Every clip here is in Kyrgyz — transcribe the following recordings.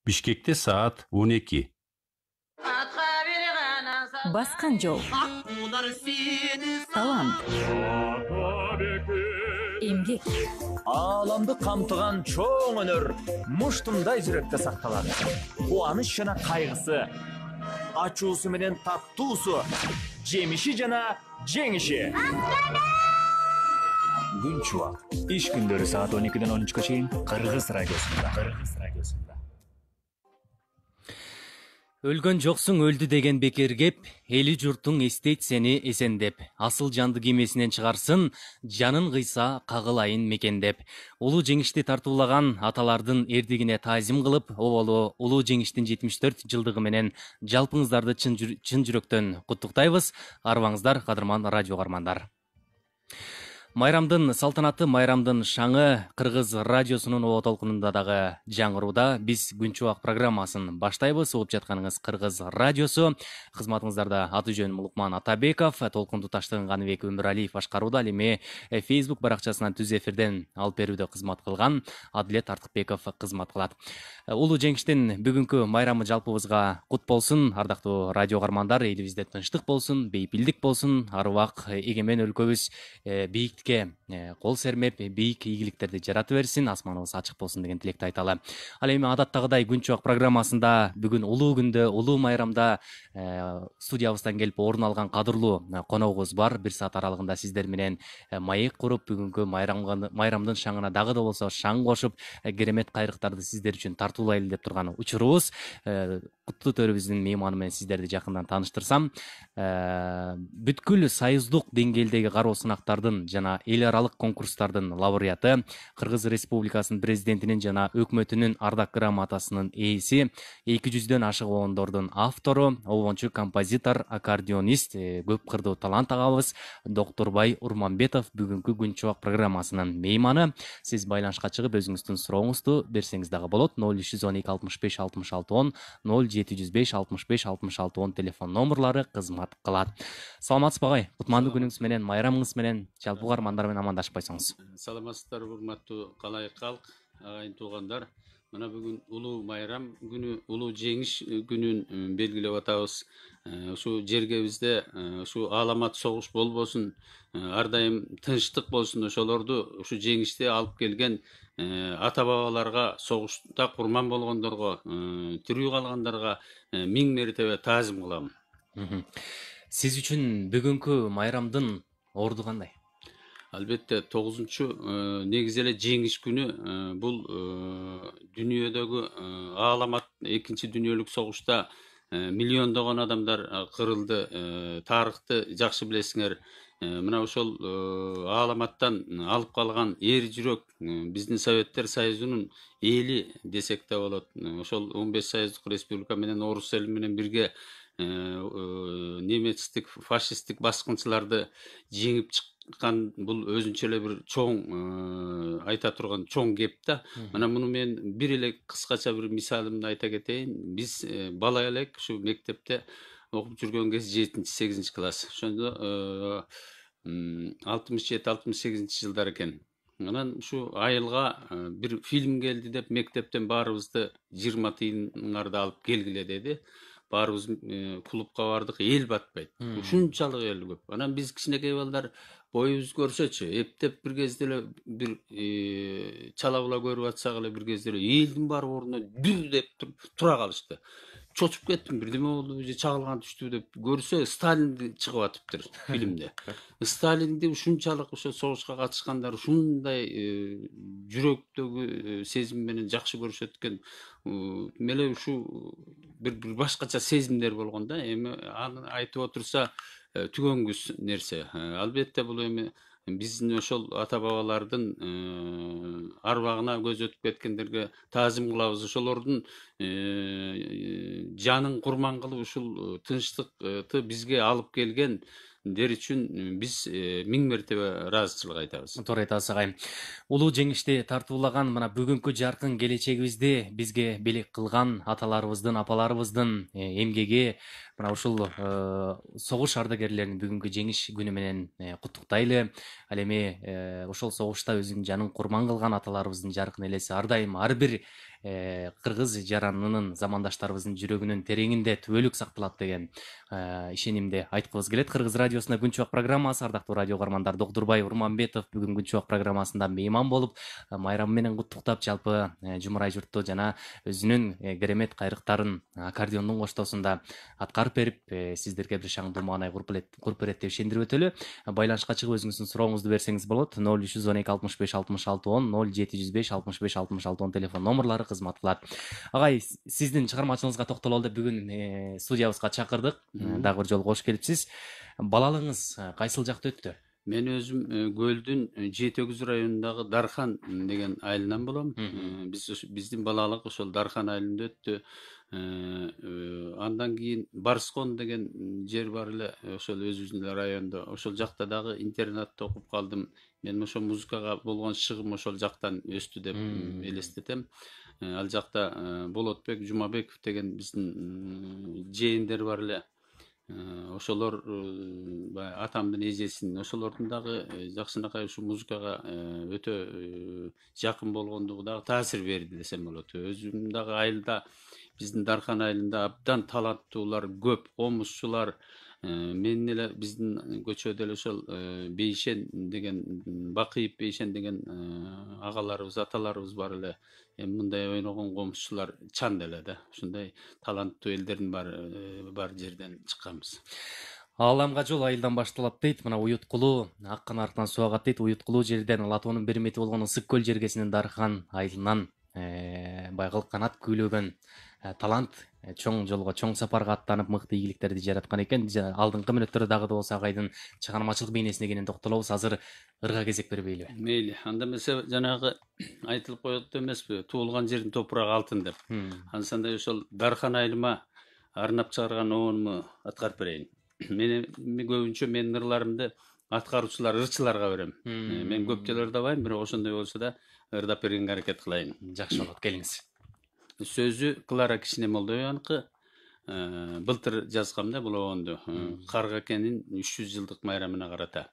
Бишкекте саат 12. Баскан жол. Талант. Эмгек. Ааламды камтыган чоң өнөр муштумдай жүрөктө сакталат. Кубаныч жана кайгысы, ачуусу менен таттуусу, жемиши жана жеңиши. Күн чубак. Иш күндөрү саат 12-ден 13-кө чейин Кыргыз радиосунда. Өлгөн жоксуң өлдү деген бекер кеп, эли журтуң эстейт сени эсендеп. Асыл жанды кемесинен чыгарсын, жанын кыйса кагылайын мекендеп. Улуу жеңишти тартуулаган аталардын эрдигине таазим кылып, оболу улуу жеңиштин 74 жылдыгы менен жалпыңыздарды чын жүрөктөн куттуктайбыз. Арыбаңыздар, кадырман радио угармандар. Майрамдын салтанаты, майрамдын шаңы Кыргыз радиосунун оо толкунунда дагы жаңырууда. Биз Күн чубак программасын баштайбыз. Угуп жатканыңыз Кыргыз радиосу. Кызматыңыздарда аты жөнүм Лукман Атабеков, толкунду таштыгын Каныбек Өмүралиев башкарууда. Ал эми Facebook баракчасынан түз эфирден алып берүүдө кызмат кылган Адилет Артыкбеков кызмат кылат. Улуу жеңиштин бүгүнкү майрамы жалпыбызга кут болсун. Ардактуу радио угармандар, элибизде тынчтык болсун, бейпилдик болсун, арыбак эгемен өлкөбүз бийик кол сермеп, бийик ийгиликтерди жарата берсин, асманыбыз ачык болсун деген тилекти айталы. Ал эми адаттагыдай Күн чубак программасында бүгүн улуу күндө, улуу майрамда студиябыздан келип орун алган кадырлуу коногубуз бар. Бир саат аралыгында сиздер менен маек куруп, бүгүнкү майрамдын шаңына дагы да болсо шаң кошуп, керемет кайрыктарды сиздер үчүн тартуулайлы деп турган учурубуз. Куттуу төрүбүздүн мейманы менен сиздерди жакындан тааныштырсам, бүткүл союздук деңгээлдеги кароо сынактардын жана эл аралык конкурстардын лауреаты, Кыргыз Республикасынын президентинин жана өкмөтүнүн ардак грамотасынын ээси, 200дөн ашык обондордун автору, обончу, композитор, аккордеонист, көп кырдуу талант агабыз Доктурбай Урманбетов бүгүнкү Күн чубак программасынын мейманы. Сиз байланышка чыгып өзүңүздүн сурооңузду берсеңиз дагы болот. 0312 65 66 10, 0705 65 66 10 телефон номерлары кызмат кылат. Саламатсызбы агай? Кутмандуу күнүңүз менен, майрамыңыз менен жалпы угармандар менен амандашпайсыңыз. Саламатсыздарбы, урматтуу калай калк, агайын туугандар. Мына бүгүн улуу майрам күнү, улуу жеңиш күнүн белгилеп атабыз. Ушу жергебизде ушу ааламат согуш болбосун, ар дайым тынчтык болсун. Ошолорду, ушу жеңишти алып келген ата бабаларга, согушта курман болгондорго, тирүү калгандарга миң мертебе таазим кылам. Сиз үчүн бүгүнкү майрамдын орду кандай? Албетте 9-чу негизи эле жеңиш күнү бул дүйнөдөгү ааламат 2 дүйнөлүк согушта миллиондогон адамдар кырылды. Тарыхты жакшы билесиңер. Мына ошол ааламаттан алып калган эр жүрөк биздин Советтер Союзунун эли десек да болот. Ошол 15 союздук республика менен орус эли менен бирге немецтик, фашисттик баскынчыларды жеңип чыккан, бул өзүнчө эле бир чоң айта турган чоң кеп да. Мына муну мен бир эле кыскача бир мисалымды айта кетейин. Биз бала элек ушу мектепте окуп жүргөн кез 7-8 класс. Ошондо 67-68 жылдар экен. Анан ушу айылга бир фильм келди деп мектептен баарыбызды 20 тыйыныңарды алып келгиле деди. Баарыбыз клубка бардык, эл батпайт. Ушунчалык эл көп. Анан биз кичинекей балдар боюбуз көрсөчү, эптеп бир кезде эле бир чала була көрүп атсак эле бир кезде эле элдин баары ордуна дүр деп тура калышты. Чочуп кеттим, бирдеме болду, же чагылган түштү деп көрсө, Сталинди чыгып атыптыр фильмде. Сталинди ушунчалык ошо согушка катышкандар ушундай жүрөктөгү сезим менен жакшы көрүшөт экен. Меле ушу бир башкача сезимдер болгон да. Эми аны айтып отурса түгөнгүс нерсе. Албетте бул эми биздин ошол ата бабалардын арбагына көз өтүп кеткендерге таазим кылабыз. Ошолордун жанын курман кылып ушул тынчтыкты бизге алып келгендер үчүн биз миң мертебе ыраазычылык айтабыз. Туура айтасыз агай. Улуу жеңишти тартуулаган мына бүгүнкү жаркын келечегибизди бизге белек кылган аталарыбыздын, апаларыбыздын эмгеги, мына ушул согуш ардагерлерин бүгүнкү жеңиш күнү менен куттуктайлы. Ал эми ошол согушта өзүнүн жанын курман кылган аталарыбыздын жаркын элеси ар дайым ар бир кыргыз жаранынын замандаштарыбыздын жүрөгүнүн тереңинде түбөлүк сакталат деген ишенимди айткыбыз келет. Кыргыз радиосуна Күн чубак программасы, ардактуу радио каармандар, Докдурбай Урманбетов бүгүн Күн чубак программасында мейман болуп, майрамы менен куттуктап, жалпы Жумурай журтту жана өзүнүн керемет кайрыктарын аккордеондун коштоосунда аткарып берип, сиздерге бир шаңдуу маанай куруп берет деп ишендирип өтөлү. Байланышка чыгып өзүңүздүн сурооңузду берсеңиз болот. 0312 65 66 10 0705 65 66 10 телефон номерлары кызмат кылат. Агай, сиздин чыгармачылыгыңызга токтололу деп бүгүн студиябызга чакырдык. Дагы бир жолу кош келипсиз. Балалыгыңыз кайсыл жакта өттү? Мен өзүм Көлдүн Жети Өгүз районундагы Дархан деген айылынан болом. Биздин балалык ошол Дархан айылында өттү. Андан кийин Барскон деген жер бар эле, ошол өзүбүздүн райондо. Ошол жакта дагы интернатта окуп калдым. Мен ошол музыкага болгон шыгым ошол жактан өстү деп элестетем. Ал жакта Болотбек Жумабеков деген биздин жээндер бар эле. Ошолор атамдын эжесин, ошолордун дагы жакшынакай ушу музыкага өтө жакын болгондугу дагы таасир берди десем болот. Өзүм дагы айылда, биздин Дархан айылында абдан таланттуулар көп, комузчулар, менин эле биздин көчөдө эле ошол Бейшен деген, Бакыйып Бейшен деген агаларыбыз, аталарыбыз бар эле. Эми мындай ойногон комузчулар чан эле да. Ушундай таланттуу элдердин бар жерден чыкканбыз. Ааламга жол айылдан башталат дейт. Мына Уюткулуу аккан арктан суу агат дейт. Уюткулуу жерден Латоонун бир мети болгон Ысык көл жергесинин Дархан айылынан байгылык канат күйлөгөн талант чоң жолго, чоң сапарга аттанып, мыкты ийгиликтерди жараткан экен. Алдыңкы мүнөттөрдө дагы да болсо агайдын чыгармачылык бейнесине кенен токтолобуз. Азыр ырга кезек бербейлиби? Мейли. Анда эмесе жанагы айтылып коет эмеспи, туулган жердин топурагы алтын деп. Ансандай ошол Дархан айылыма арнап чыгарган оонуму аткарып берейин. Мен көбүнчө менин ырларымды аткаруучулар, ырчыларга берем. Мен көп жолу ырдабайм, бирок ошондой болсо да ырдап бергенге аракет кылайын. Жакшы болот, келиңиз. Сөзү Клара Кичинемолдояныкы. Былтыр жазгам да бул оонду. Карга экенин 300 жылдык майрамына карата.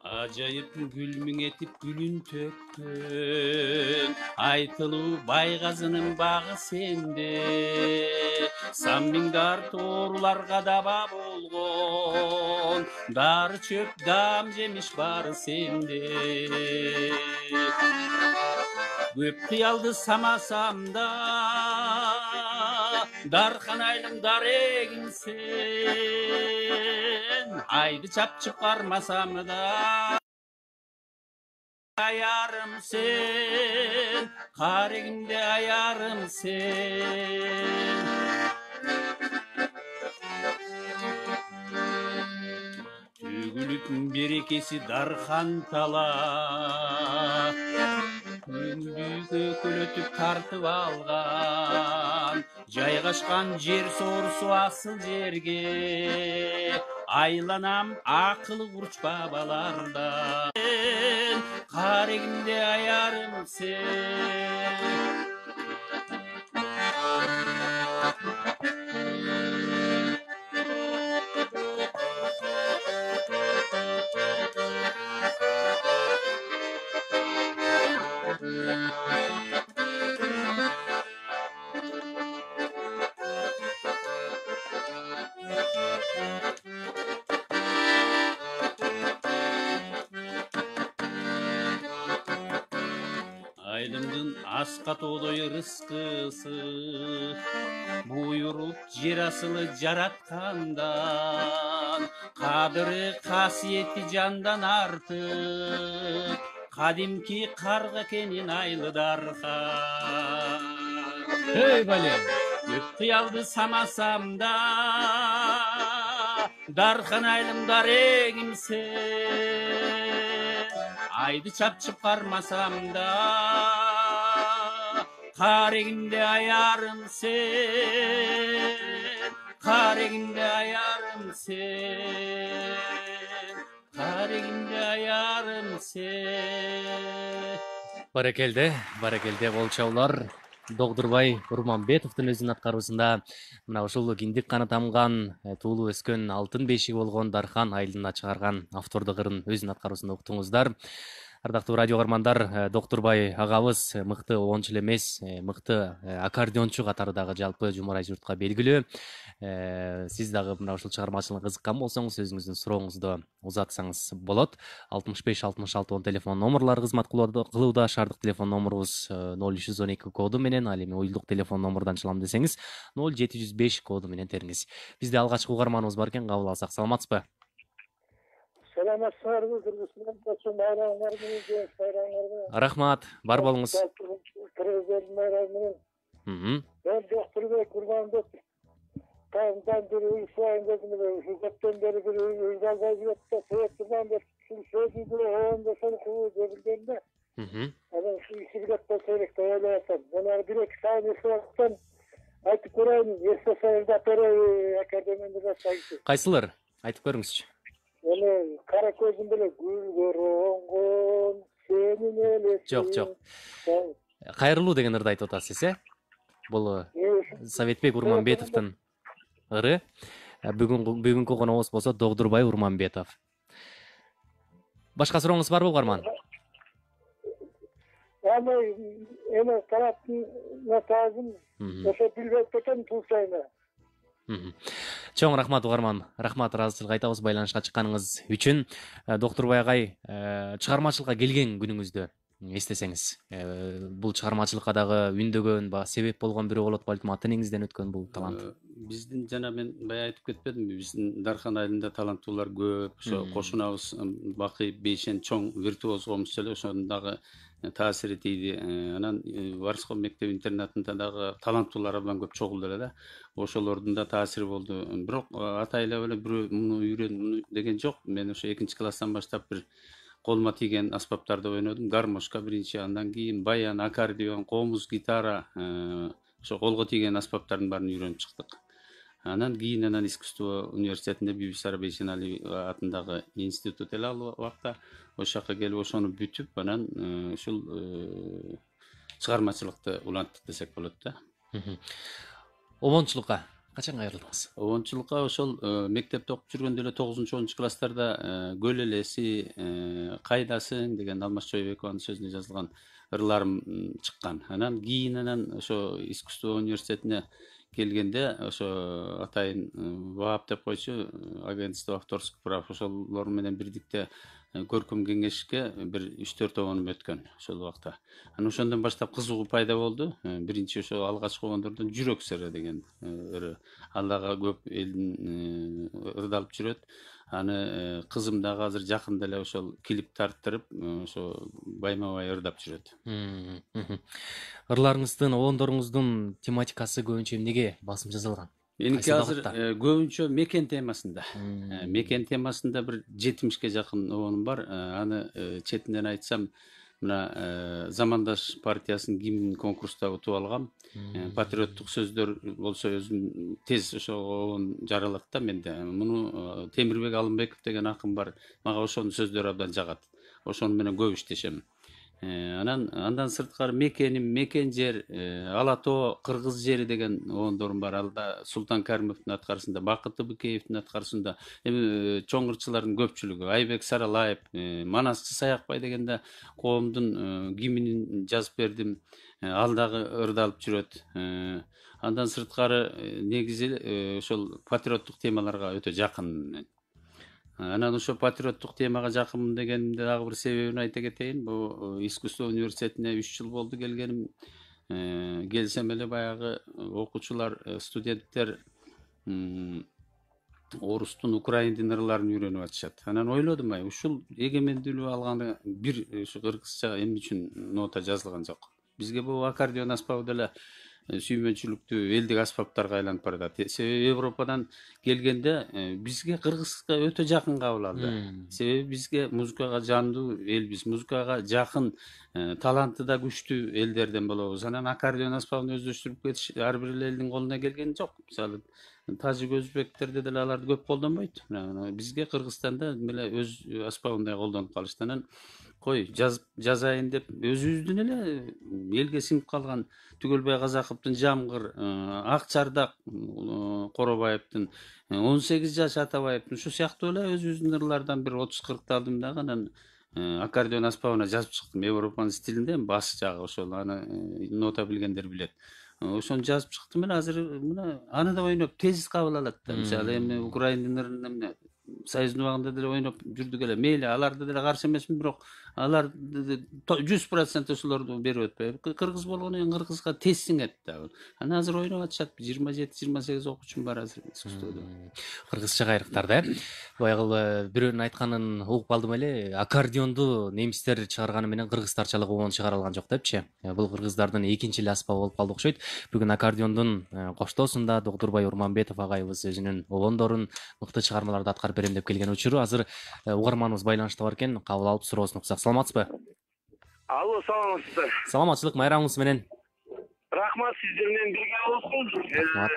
Ajayip gülmün etip gülün tökkün, айтылуу байгазынын багы сенде. Саммиңдар тооруларга даба болгон, дары чөп дам жемиш бары сенде. Көп кыялды самасам да, Дархан айылым дарегим сен. Айды чапчып кармасам да, аярым сен, карегимде аярым сен. Төгүлүп берекеси Дархан тала, күндүгө көлөтүп тартып алган, жайгашкан жер соорусу асыл жерге. Айланам акылы курч бабаларда, карегимде аярым сен. Айылымдын аска тоодой ырыскысы, буйруп жер асылы жараткандан, кадыры касиети жандан артык, кадимки карга экенин айылы Дархан. Эй балем, көп кыялды самасам да, Дархан айылым дарегим сен. Айды чапчып кармасам да, Карегимде аярым sen, карегимде аярым sen, карегимде аярым sen. Баракелде болчоолор. Догдурбай Урманбетовдун өзүнүн аткаруусунда мына ушул киндик каны тамган, туулуп өскөн алтын бешиги болгон Дархан айылына чыгарган автордук ырын өзүнүн аткаруусунда уктуңуздар. Ардактуу радио каармандар, Доктурбай агабыз мыкты обончу эле эмес, мыкты аккордеончу катары дагы жалпы жумурай журтка белгилүү. Сиз дагы мына ушул чыгармачылыкка кызыккан болсоңуз, өзүңүздүн сурооңузду узатсаңыз болот. 65-66 телефон номерлары кызмат кылууда. Шаардык телефон номерубуз 0312 коду менен, ал эми уюлдук телефон номердон чалам десеңиз 0705 коду менен териңиз. Бизде алгачкы угарманыбыз бар экен, кабыл алсак. Саламатсызбы? Саламатсыздарбы, кыргызстан болсо байрамыңар менен, жеңиш байрамыңар менен. Рахмат, бар болуңуз. Кыргыздардын байрамы менен. Мен Доктурбай Урманбетов. Таңдан бери уюшайын дедим эле, ушу көптөн бери бир уюш албай жүрөт да, себептен бери ушул сөзүдү оңдошон кылуу деп билген да. Анан ушу иши билет болсо элек деп ойлоп атам. Жана бир-эки сайын эсип айтып көрөйүн, эсте сайында төрөй академияда жашайчы. Кайсылар? Айтып көрүңүзчү. Эми кара көзүм беле гүлгөр оңгон сенин элесиң. Жок. Кайрылуу деген ырды айтып атасыз, Бул Советбек Урманбетовдун ыры. Бүгүнкү коногубуз болсо Догдурбай Урманбетов. Башка сурооңуз барбы, угарман? Эми тараптын натажын ошо билбей кетем туусайна. Чоң рахмат, угарман. Рахмат, ыраазычылык айтабыз байланышка чыкканыңыз үчүн. Доктурбай агай, чыгармачылыкка келген күнүңүздү эстесеңиз, бул чыгармачылыкка дагы үндөгөн, себеп болгон бирөө болот балким, ата энеңизден өткөн бул талант. Биздин жана мен бая айтып кетпедимби, биздин Дархан айылында таланттуулар көп. Ошо кошунабыз Бакый Бейшен чоң виртуоз комуз эле, ошонун дагы таасири тийди. Анан Варсков мектеп интернатында дагы таланттуулар абдан көп чогулду эле да. Ошолордун да таасири болду. Бирок атайлап эле бирөө муну үйрөн деген жок. Мен ошо 2-класстан баштап бир колума тийген аспаптарды ойнодум. Гармошка биринчи, андан кийин баян, аккордеон, комуз, гитара, ошо колго тийген аспаптардын баарын үйрөнүп чыктык. Анан кийин искусство университетинде Бибисара Бейшенали атындагы институт эле ал убакта ошол жака келип ошону бүтүп, анан ушул чыгармачылыкты уланттык десек болот да. Обончулукка качан кайрылдыңыз? Обончулукка ошол мектепте окуп жүргөндө эле 9-10 класстарда Көл элеси, Кайдасың деген Алмаз Чойбекованын сөзүнө жазылган ырларым чыккан. Анан кийин ошо искусство университетине келгенде ошо атайын ВААП деп койчу, агентство авторских прав, ошолор менен бирдикте көркөм кеңешке бир 3-4 обонум өткөн ошол убакта. Анан ошондон баштап кызыгуу пайда болду. Биринчи ошо алгачкы обондордон Жүрөк сыры деген ыры. Ал дагы көп элдин ырдалып жүрөт. Аны кызым дагы азыр жакында эле ошол клип тарттырып, ошо байма-бай ырдап жүрөт. Ырларыңыздын, обондоруңуздун тематикасы көбүнчө эмнеге басым жасалган? Эники азыр көбүнчө мекен темасында. Мекен темасында бир 70ке жакын обонум бар. Аны четинен айтсам, мына Замандаш партиясынын гимнин конкурста утуп алгам. Патриоттук сөздөр болсо өзүм тез ошо обон жаралат да менде. Муну Темирбек Алымбеков деген акын бар. Мага ошонун сөздөрү абдан жагат. Ошону менен көп иштешем. Андан сырткары мекеним, мекен жер, Ала тоо, Кыргыз жери деген обондорум бар. Алда Султан Каримовдун аткарысында, Бакыт Быкеевдин аткарысында, эми чоң ырчылардын көпчүлүгү, Айбек Саралаев, Манасчы Саякбай дегенде коомдун гимнин жазып бердим. Ал дагы ырдалып жүрөт. Андан сырткары негизи ошол патриоттук темаларга өтө жакын. Анан ошо патриоттук темага жакын дегенимде дагы бир себебин айта кетейин. Бул искусство университетине 3 жыл болду келгеним. Келсем эле баягы окуучулар, студенттер орустун, украиндин ырларын үйрөнүп атышат. Анан ойлодум, ушул эгемендүүлүк алганы бир ушу кыргызча эмне үчүн нота жазылган жок. Бизге бул аккордеон аспабы деле сүймөнчүлүктүү элдик аспаптарга айланып баратат. Себеби Европадан келгенде бизге кыргызга өтө жакын кабыл алды. Себеби бизге музыкага жандуу элбиз, музыкага жакын, таланты да күчтүү элдерден болобуз. Анан аккордеон аспабын өздөштүрүп кетиш ар бир элдин колуна келген жок. Мисалы тажик өзбектерде деле аларды көп колдонбойт. Бизге Кыргызстанда эле өз аспабындай колдонуп калышты. Анан кой жазайын деп өзүбүздүн эле элге сиңип калган Түгөлбай Казаковдун Жамгыр, Ак Чардак Коробаевдин, 18 жаш Атабаевдин ушу сыяктуу эле өзүбүздүн ырлардан бир 30-40 алдым дагы анан аккордеон аспабына жазып чыктым. Европанын стилинде баш жагы ошол, аны нота билгендер билет. Ошону жазып чыктым эле азыр мына аны да ойноп тез кабыл алат да. Мисалы эми Украиндын ырын эмне Союздун убагында деле ойноп жүрдүк эле. Мейли аларды деле каршы эмесмин, бирок алар 100% ошолорду берип өтпөйбү. Кыргыз болгону менен кыргызга тез сиңет да. Анан азыр ойноп атышат. 27-28 окуучум бар азыр искусстводо. Кыргызча кайрыктар да. Баягы бирөөнүн айтканын угуп калдым эле. Аккордеонду немистер чыгарганы менен кыргыздарчалык обон чыгара алган жок депчи. Бул кыргыздардын экинчи эле аспабы болуп калды окшойт. Бүгүн аккордеондун коштоосунда Доктурбай Урманбетов агайыбыз өзүнүн обондорун мыкты чыгармаларды аткарып берем деп келген учуру. Азыр угарманыбыз байланышта бар экен, кабыл алып суроосун уксак. Саламатсызбы? Алло, саламатсызбы? Саламатчылык, майрамыңыз менен. Рахмат, сиздер менен бирге болсун. Рахмат.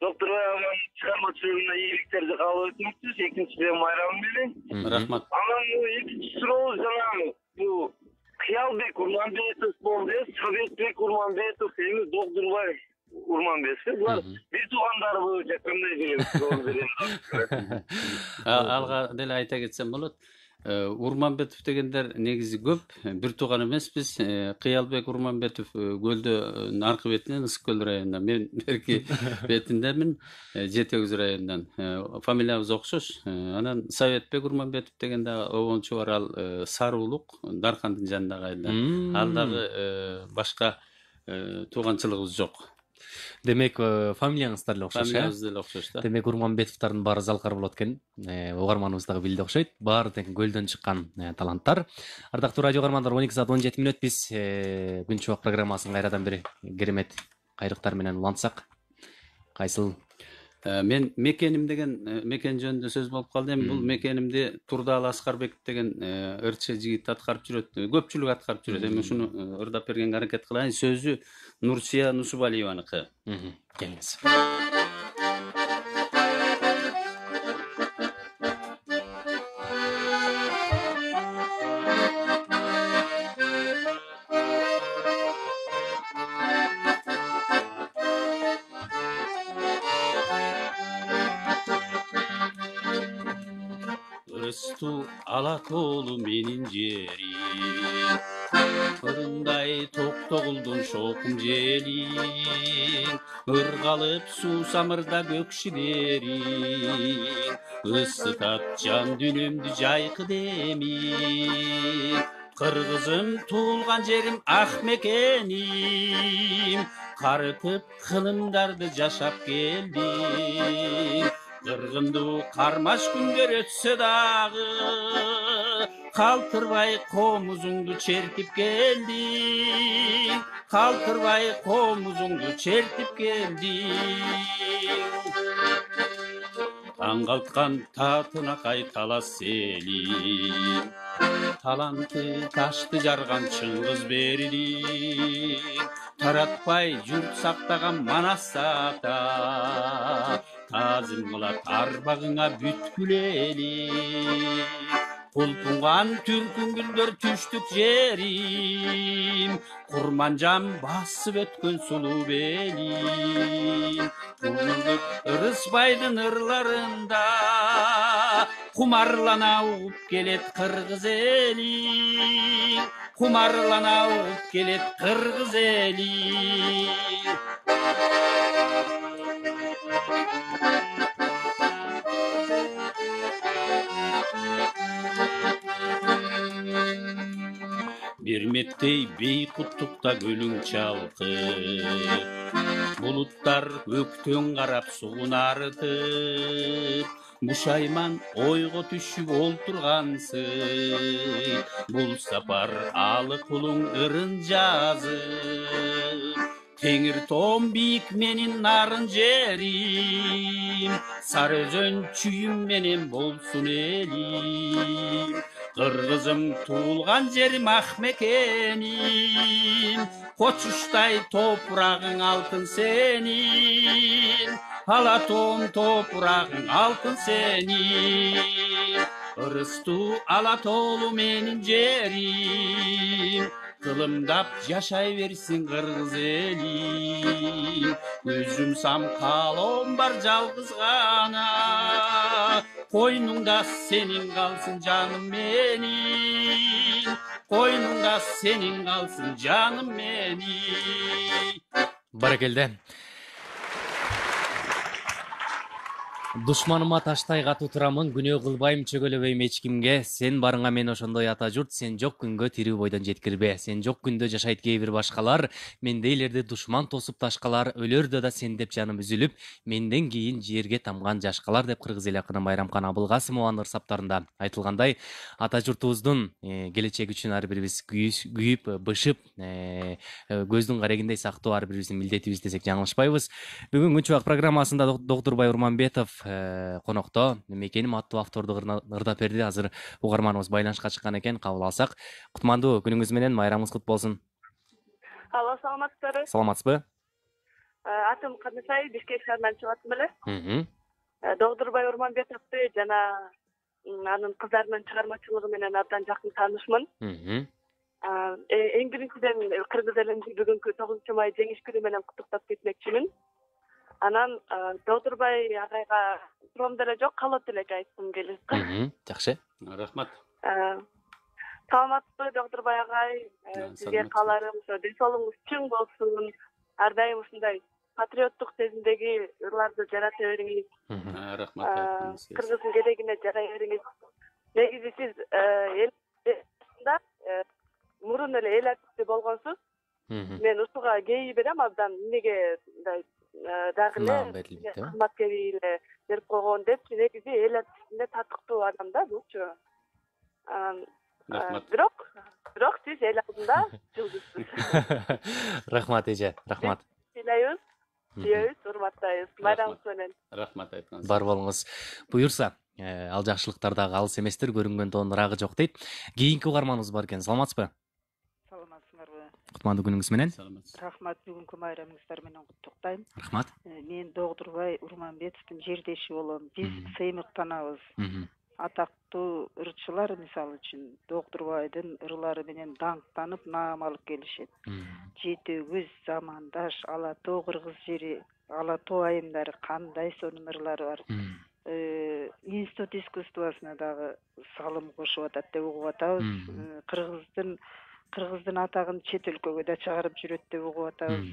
Доктурбай агайдын чыгармачылыгына ийгиликтерди каалап өтмөкчүбүз. Экинчиден майрамы менен. Рахмат. Анан экинчи суроо жана бул Кыялбек Урманбетов болду, Советбек Урманбетов, эми Доктурбай Урманбетов. Булар бир туугандарбы же кандай деген суроо берем. Алга деле айта кетсем болот. Урманбетов дегендер негизи көп, бир тууган эмеспиз. Кыялбек Урманбетов көлдөн аркы бетинен, Ысык көл районунан, мен берки бетиндемин, Жети Өгүз районунан. Фамилиябыз окшош. Анан Советбек Урманбетов деген да обончу бар, ал Саруулук, Даркандын жанындагы айылдан. Ал дагы башка тууганчылыгыбыз жок. Демек, фамилияңыздар эле окшош, Фамилиябыз деле окшош да. Демек, Урманбетовдордун баары залкар болот экен. Угарманыбыз дагы билди окшойт. Баары тең көлдөн чыккан таланттар. Ардактуу радио угармандар, 12:17 бүт биз күн чубак программасын кайрадан бир керемет кайрыктар менен улантсак. Кайсыл? Мен мекеним деген мекен жөнүндө сөз болуп калды. Эми бул мекенимди Турдаалы Аскарбеков деген ырчы жигит аткарып жүрөт. Көпчүлүк аткарып жүрөт. Эми ушуну ырдап бергенге аракет кылайын. Сөзү Нурсия Нусубалиеваныкы. Келиңиз. Ырыстуу Алатоолу менин жерим, ырындай токтогулдун шокум желиң, ыргалып суусамырда көк шидериң, ысытат жан дүйнөмдү жайкы демиң. Кыргызым туулган жерим ак мекеним, карытып кылымдарды жашап келдим. Кыргындуу кармаш күндөр өтсө дагы, калтырбай комузуңду чертип келдиң, калтырбай комузуңду чертип келдиң. Таң калткан татына кайталас элим, таланты ташты жарган Чыңгыз бердиң, таратпай журт сактаган Манас ата, тазым кылат арбагыңа бүткүл элим. Кулпунган түркүн гүлдөр түштүк жерим, Курманжан басып өткөн сулуу белим. Кулдук Ырысбайдын ырларында кумарлана угуп келет кыргыз эли, кумарлана угуп келет кыргыз эли. Бермектей бейкуттукта көлүң чалкып, булуттар көктөн карап сугун арытып, бушайман ойго түшүп олтургансың, бул сапар алы кулуң ырын жазып. Теңир тоом бийик менин нарын жерим, Сары өзөн чүйүм менен болсун элим. Кыргызым туулган жерим ак мекеним, Кочуштай топурагың алтын сенин, Ала тоом топурагың алтын сенин. Ырыстуу ала тоолу менин жерим, Кылымдап жашай берсин кыргыз элим. Өзүм самкалоом бар жалгыз гана, Койнуңда сенин калсын жаным менин, Койнуңда сенин калсын жаным менин. Баракелде. Душманыма таштай катуу турамын, күнөө кылбайм, чөгөлөбөйм эч кимге. Сен барыңа мен ошондой ата журт, сен жок күнгө тирүү бойдон жеткирбе. Сен жок күндө жашайт кээ бир башкалар, мендейлерди душман тосуп ташкалар, өлөрдө да сен деп жаным үзүлүп, менден кийин жерге тамган жашкалар деп кыргыз эл акыны Майрамкан Абылкасымованын ырсаптарында айтылгандай, ата журтубуздун келечеги үчүн ар бирибиз күйүп, бышып, көздүн карегиндей сактоо ар бирибиздин милдетибиз десек жаңылышпайбыз. Бүгүн Күн Чубак программасында Доктурбай Урманбетов конокто. Мекеним аттуу авторду ырдап берди. Азыр угарманыбыз байланышка чыккан экен, кабыл алсак. Кутмандуу күнүңүз менен, майрамыңыз кут болсун. Алло, саламатсыздарбы? Саламатсызбы? Атым Кадысай, Бишкек шаарынан чыгып аттым эле. Доктурбай Урманбетовду жана анын кыздарынын чыгармачылыгы менен абдан жакын таанышмын. Эң биринчиден кыргыз элин бүгүнкү 9 май жеңиш күнү менен куттуктап кетмекчимин. Анан Доктурбай агайга суроом деле жок, калот деле айткым келет. Жакшы. Рахмат. Саламатсызбы, Доктурбай агай? Сизге кааларым ошо ден соолугуңуз чың болсун. Ар дайым ушундай патриоттук сезимдеги ырларды жарата бериңиз. Рахмат. Кыргыздын келегине жарай бериңиз. Негизи сиз элда мурун эле эл артисти болгонсуз. Мен ушуга кээ берем абдан, эмнеге мындай дагы эле кызматкери эле берип койгон деп, негизи эл артисине татыктуу адам да булчу. Бирок сиз эл алдында жылдызсыз. Рахмат эже, рахмат. Сыйлайбыз, сүйөбүз, урматтайбыз. Майрамыңыз менен. Рахмат айтканыңыз. Бар болуңуз. Буюрса, ал жакшылыктар дагы алыс эместир, көрүнгөн тоонун ырагы жок дейт. Кийинки угарманыбыз бар экен. Саламатсызбы? Саламатсыңарбы? Кутмандуу күнүңүз менен. Рахмат, бүгүнкү майрамыңыздар менен куттуктайм. Рахмат. Мен Доктурбай Урманбетовдун жердеши болом. Биз сыймыктанабыз. Атактуу ырчылар, мисалы үчүн, Доктурбайдын ырлары менен даңктанып наам алып келишет. Жети өгүз, замандаш, ала тоо кыргыз жери, ала тоо айымдары кандай сонун ырлары бар. Институт искусствосуна дагы салым кошуп атат деп угуп атабыз. Кыргыздын атагын чет өлкөгө да чыгарып жүрөт деп угуп атабыз.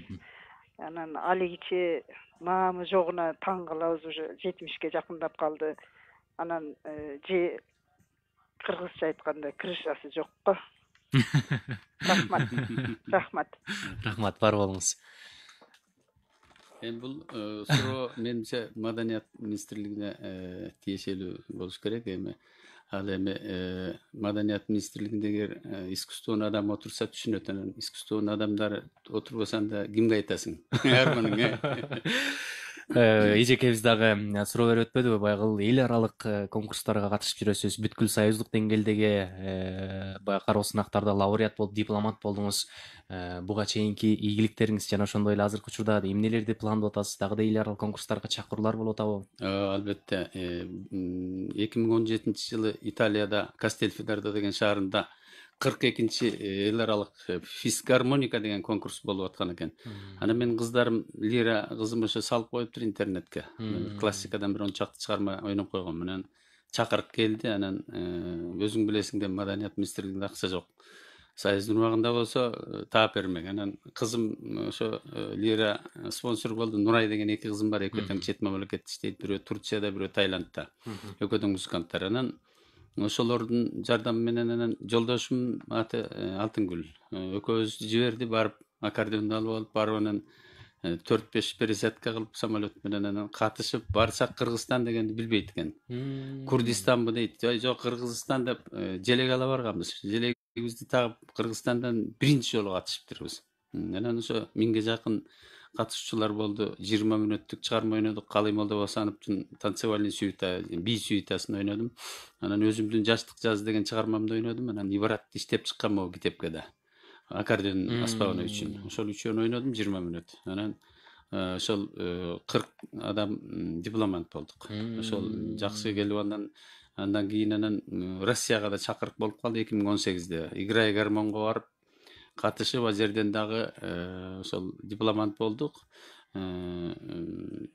Анан алигиче маамы жогуна таң калабыз, уже 70-ке жакындап калды. Анан же кыргызча айтканда крышасы жокко. Рахмат. Рахмат, бар болуңуз. Бул суроо менимче Маданият министрлигине тиешелүү болуш керек. Ал эми Маданият министрлигиндеги искусствонун адамы отурса түшүнөт. Анан искусствонун адамдары отурбаса анда кимге айтасың? Арманың. Эжекебиз дагы суроо берип өтпөдүбү? Байгыл эл аралык конкурстарга катышып жүрөсүз. Бүткүл союздук деңгээлдеги баягы кароо сынактарда лауреат болуп, дипломат болдуңуз. Буга чейинки ийгиликтериңиз жана ошондой эле азыркы учурда эмнелерди пландап атасыз? Дагы да эл аралык конкурстарга чакыруулар болуп атабы? Албетте. 2017 жылы Италияда Кастельфидардо деген шаарында 42-чи эл аралык физгармоника деген конкурс болуп аткан экен. Анан мен кыздарым Лира кызым ошо салып коюптур интернетке. Классикадан бир 10 чакты чыгарма ойноп койгон. Менен чакырып келди. Анан өзүң билесиң деп Маданият министрлигинде акча жок. Союздун убагында болсо таап бермек. Анан кызым ошо Лира спонсор болду. Нурай деген 2 кызым бар. Экөө тең чет мамлекетте иштейт. Бирөө Турцияда, бирөө Таиландта. Экөө тең музыканттар. Анан ошолордун жардамы менен анан жолдошум аты Алтынгүл экөөбүз жиберди, барып аккордеонду алып алып, барып анан 4-5 пересадка кылып самолет менен анан катышып барсак, Кыргызстан дегенди билбейт экен. Курдистанбы дейт. Жок, Кыргызстан деп желек ала барганбыз. Желегибизди тагып Кыргызстандан биринчи жолу катышыптырбыз. Анан ошо 1000ге жакын катышуучулар болду. 20 мүнөттүк чыгарма ойнодук. Калый Молдобасановдун танцевальный сюита, би сюитасын ойнодум. Анан өзүмдүн жаштык жаз деген чыгармамды ойнодум. Анан Ибаратты иштеп чыккан могу китепке да. Аккордеон аспабаны үчүн. Ошол үчөөнү ойнодум 20 мүнөт. Анан ошол 40 адам дипломант болдук. Ошол жакшы келип андан кийин Россияга да чакырык болуп калды 2018-де. Играй гармонго барып катышып, ал жерден дагы ошол дипломант болдук.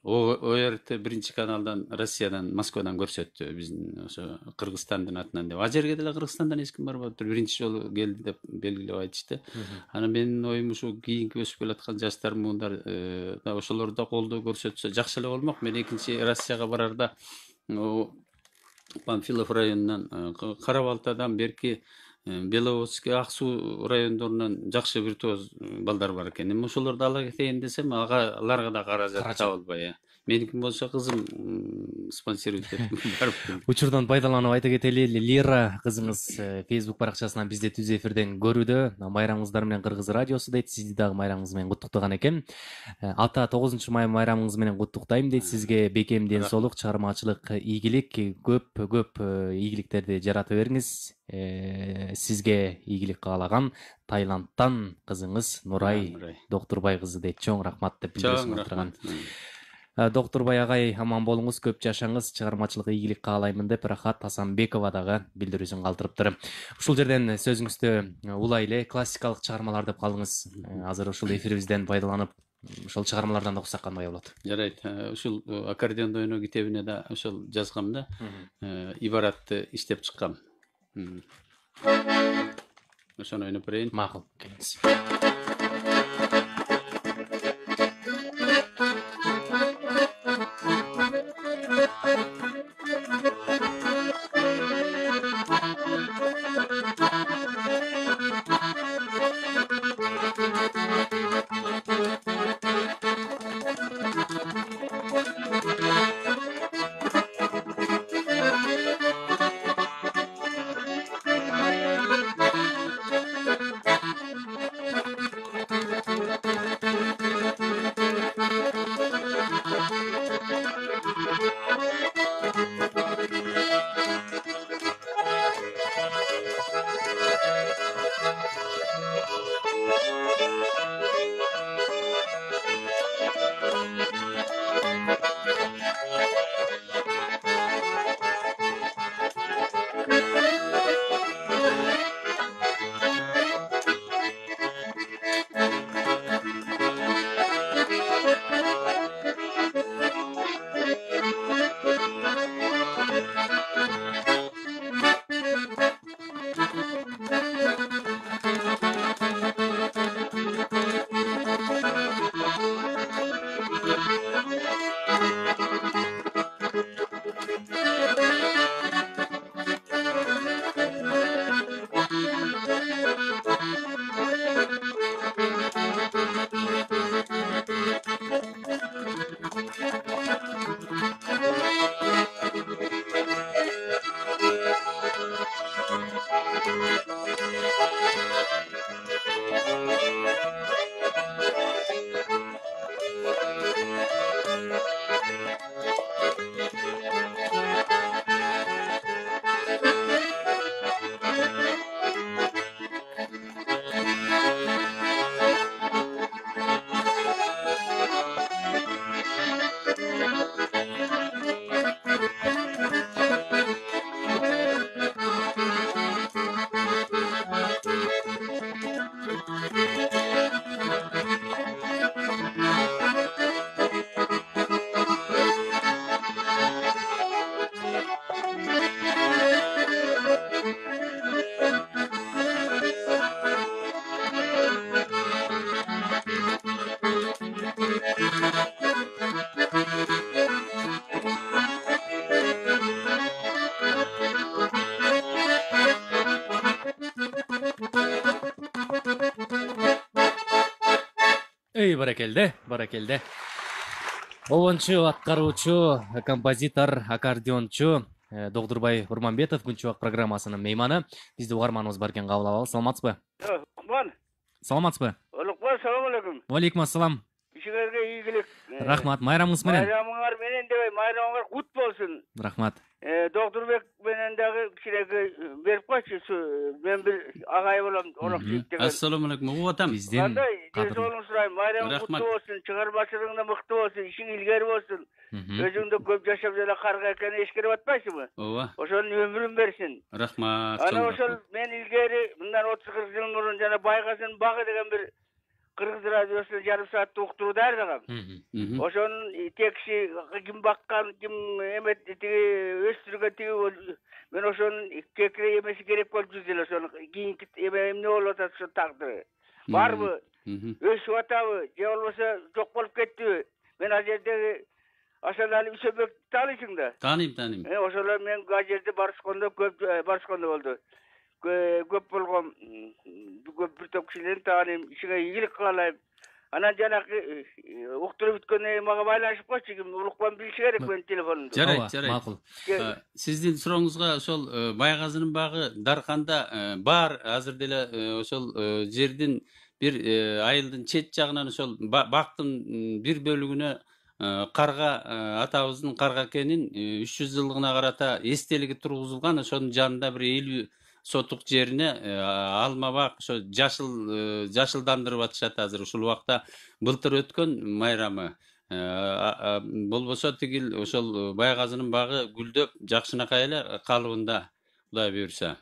ОРТ биринчи каналдан, Россиядан, Москвадан көрсөттү биздин ошо Кыргызстандын атынан деп. А жерге деле Кыргызстандан эч ким барбаптыр. Биринчи жолу келди деп белгилеп айтышты. Анан менин оюм ушу кийинки өсүп келаткан жаштар муундар ошолор да колдоо көрсөтсө жакшы эле болмок. Мен экинчи Россияга барарда Панфилов районунан, Кара Балтадан берки Беловодский, Ак суу райондорунан жакшы виртуоз балдар бар экен. Эми ошолорду ала кетейин десем, аларга да каражат табылбай. Меникин болсо кызым спонсирует этип барып келди. Учурдан пайдаланып айта кетели, Лера кызыңыз Facebook баракчасынан бизди түз эфирден көрүүдө. Майрамыңыздар менен Кыргыз радиосу дейт. Сизди дагы майрамыңыз менен куттуктаган экен. Ата 9-май майрамыңыз менен куттуктайм дейт. Сизге бекем ден соолук, чыгармачылык ийгилик, көп ийгиликтерди жарата бериңиз. Сизге ийгилик каалаган Таиландтан кызыңыз Нурай Доктурбай кызы дейт. Чоң рахмат деп билдиришип турган. Доктурбай агай аман болуңуз, көп жашаңыз, чыгармачылык ийгилик каалаймын деп Рахат Асанбекова дагы билдирүүсүн калтырыптыр. Ушул жерден сөзүңүздү улай эле классикалык чыгармалар деп калдыңыз. Азыр ушул эфирибизден пайдаланып, ошол чыгармалардан да окусак кандай болот? Жарайт. Ушул аккордеондо ойноо китебине да ошол жазгам да. Ибаратты иштеп чыккам. Ошону ойноп берейин. Макул, келиңиз. Баракелде. Обончу, аткаруучу, композитор, аккордеончу Доктурбай Урманбетов Күнчүбак программасынын мейманы. Бизди угарманыбыз бар экен, кабыл алалы. Саламатсызбы? Куман. Саламатсызбы? Улукбай, салам алейкум. Алейкум ассалам. Ишиңерге ийгилик. Рахмат. Майрамыңыз менен. Майрамыңар менен дебей, майрамыңар кут болсун. Рахмат. Доктурбек менен дагы кичинекей берип койчу. Мен бир агай болом, Орок Жийит деген. Ассаламу алейкум. Угуп атам. Биздин Кандай денсаулыгыңды сурайм. Майрамың куттуу болсун, чыгармачылыгың да мыкты болсун, ишиң илгери болсун. Өзүңдү көп жашап жана карга экени эскерип атпайсыңбы? Ооба. Ошонун өмүрүн берсин. Рахмат. Ана ошол мен илгери мындан 30-40 жыл мурун жана Байгазынын багы деген бир кыргыз радиосунда жарым сааттык уктуруу даярдагам. Ошонун текши ким баккан, ким эмет тиги өстүргөн тиги мен ошонун кекире эмеси керек болуп жүрдү эле ошонун кийинки эмне болуп атат ошо тагдыры. Барбы? Өсүп атабы? Же болбосо жок болуп кеттиби? Мен ал жердеги Асанали Үсөбекти тааныйсың да? Тааныйм. Ошолор мен ал жерде барышкондо болду. Көп болгон көп бир топ кишилерди тааныйм. Ишиңе ийгилик каалайм. Анан жанагы уктуруп бүткөндөн кийин мага байланышып койчу, ким Улукбан билиши керек менин телефонумду. Жарайт. Макул. Сиздин сурооңузга ошол Байгазынын багы Дарканда бар. Азыр деле ошол жердин бир айылдын чет жагынан ошол бактын бир бөлүгүнө карга атабыздын карга экенин 300 жылдыгына карата эстелиги тургузулган. Ошонун жанында бир 50 сотук жерине алма бак ошо жашылдандырып атышат азыр. Ушул убакта былтыр өткөн майрамы. Болбосо тигил ошол Байгазынын багы гүлдөп жакшынакай эле калыбында, Кудай буйрса.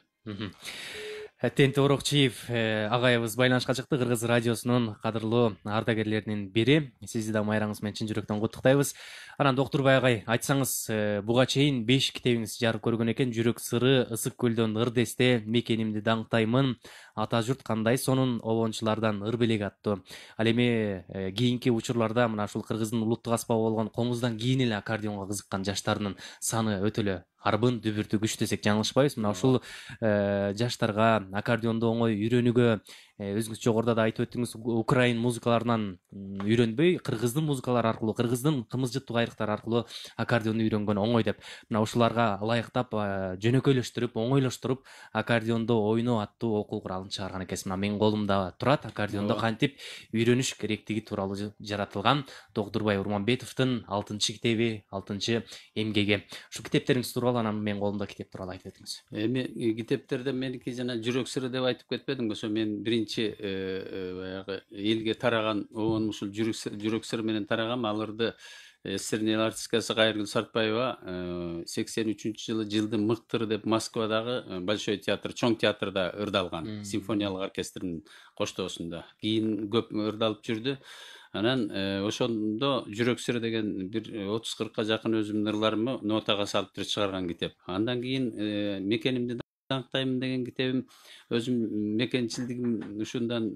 Тенти Орокчиев агайыбыз байланышка чыкты, Кыргыз радиосунун кадырлуу ардагерлеринин бири. Сизди да майрамыңыз менен чын жүрөктөн куттуктайбыз. Анан Доктурбай агай, айтсаңыз, буга чейин 5 китебиңизди жарык көргөн экен. Жүрөк сыры, Ысык көлдөн ырдесте, Мекенимди даңктаймын, Ата журт кандай, сонун обончулардан ыр белек аттуу. Ал эми кийинки учурларда мына ушул Кыргыздын улуттук аспабы болгон комуздан кийин эле аккордеонго кызыккан жаштардын саны өтө эле арбын, дүбүртү күч десек жаңылышпайбыз. Мына ушул жаштарга аккордеонду оңой үйрөнүүгө өзүңүз жогоруда да айтып өттүңүз, украин музыкаларынан үйрөнбөй, кыргыздын музыкалары аркылуу, кыргыздын кымызжыттуу кайрыктары аркылуу аккордеонду үйрөнгөн оңой деп, мына ушуларга ылайыктап, жөнөкөйлөштүрүп, оңойлоштуруп аккордеонду ойноо аттуу окуу куралын чыгарган экенсиз. Мына менин колумда турат, аккордеонду кантип үйрөнүш керектиги тууралуу жаратылган Доктурбай Урманбетовдун 6-китеби, 6-эмгеги. Ушул китептериңиз тууралуу, анан менин колумда китеп тууралуу айтып өтүңүз. Эми китептерде меники жана жүрөк сыры деп айтып кетпедимби? Ошо мен биринчи баягы элге тараган обон ушул жүрөк сыры менен тарагам. Аларды эсердин артисткасы Кайыргүл Сартбаева 83-жылы жылдын мыктыры деп Москвадагы Большой театр, чоң театрда ырдалган, симфониялык оркестрдин коштоосунда. Кийин көп ырдалып жүрдү. Анан ошондо жүрөк сыры деген бир 30-40ка жакын өзүмдүн ырларымды нотага салып туруп чыгарган китеп. Андан кийин Мекенимди даңктаймын деген китебим, өзүм мекенчилдигим ушундан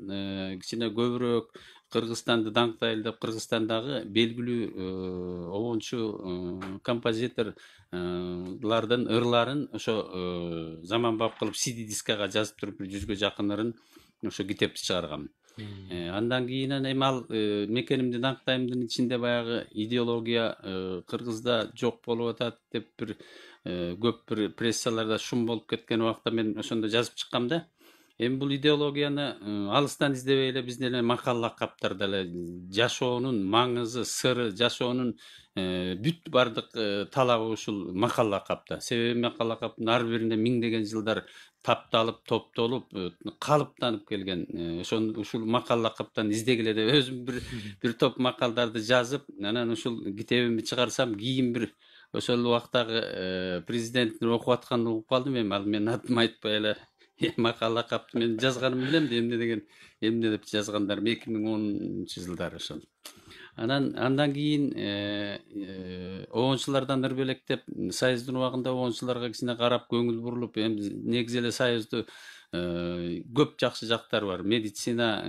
кичине көбүрөөк Кыргызстанды даңктайлы деп, Кыргызстандагы белгилүү обончу композиторлордун ырларын ошо заманбап кылып CD-дискага жазып туруп 100га жакын ырын ошо китепти чыгаргам. Андан кийин эми ал Мекенимди даңктаймдын ичинде баягы идеология Кыргызда жок болуп атат деп бир көп бир прессаларда шум болуп кеткен убакта мен ошондо жазып чыккам да. Эми бул идеологияны алыстан издебей эле биздин эле макал лакаптарда эле жашоонун маңызы, сыры, жашоонун бүт бардык талабы ушул макал лакапта. Себеби макал лакаптын ар биринде миңдеген жылдар тапталып, топтолуп, калыптанып келген. Ушул макал лакаптан издегиле деп өзүм бир топ макалдарды жазып, анан ушул китебимди чыгарсам, кийин бир ошол убактагы президенттин окуп атканын угуп калдым. Эми ал менин атымды айтпай эле макал лакапты мен жазганым билем да, эмне деп жазгандар 2010-жылдары ошол. Андан кийин обончулардан ыр белектеп, Союздун убагында обончуларга кичине карап көңүл бурулуп, эми негизи эле Союзду көп жакшы жактары бар. Медицина,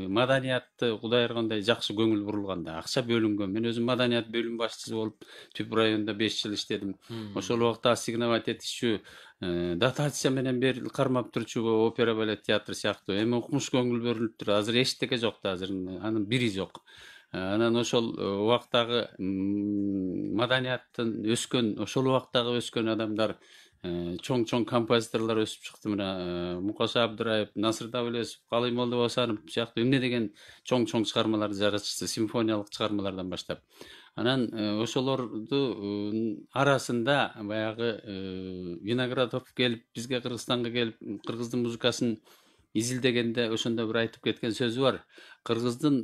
маданиятты Кудай ыргандай жакшы көңүл бурулган да, акча бөлүнгөн. Мен өзүм маданият бөлүм башчысы болуп Түп районунда 5 жыл иштедим. Ошол убакта ассигновать этишүү, дотация менен берилип кармап турчу опера балет театр сыяктуу. Эми укмуш көңүл бөлүнүп тур. Азыр эчтеке жок да, азыр анын бири жок. Анан ошол убактагы маданияттын өскөн, ошол убактагы өскөн адамдар чоң композиторлор өсүп чыкты. Мына Мукаша Абдыраев, Насыр Давылесов, Калыймолду Босанов сыяктуу эмне деген чоң чыгармаларды жаратышты, симфониялык чыгармалардан баштап. Анан ошолорду арасында баягы Виноградов келип, бизге Кыргызстанга келип, кыргыздын музыкасын изилдегенде ошондо бир айтып кеткен сөзү бар. Кыргыздын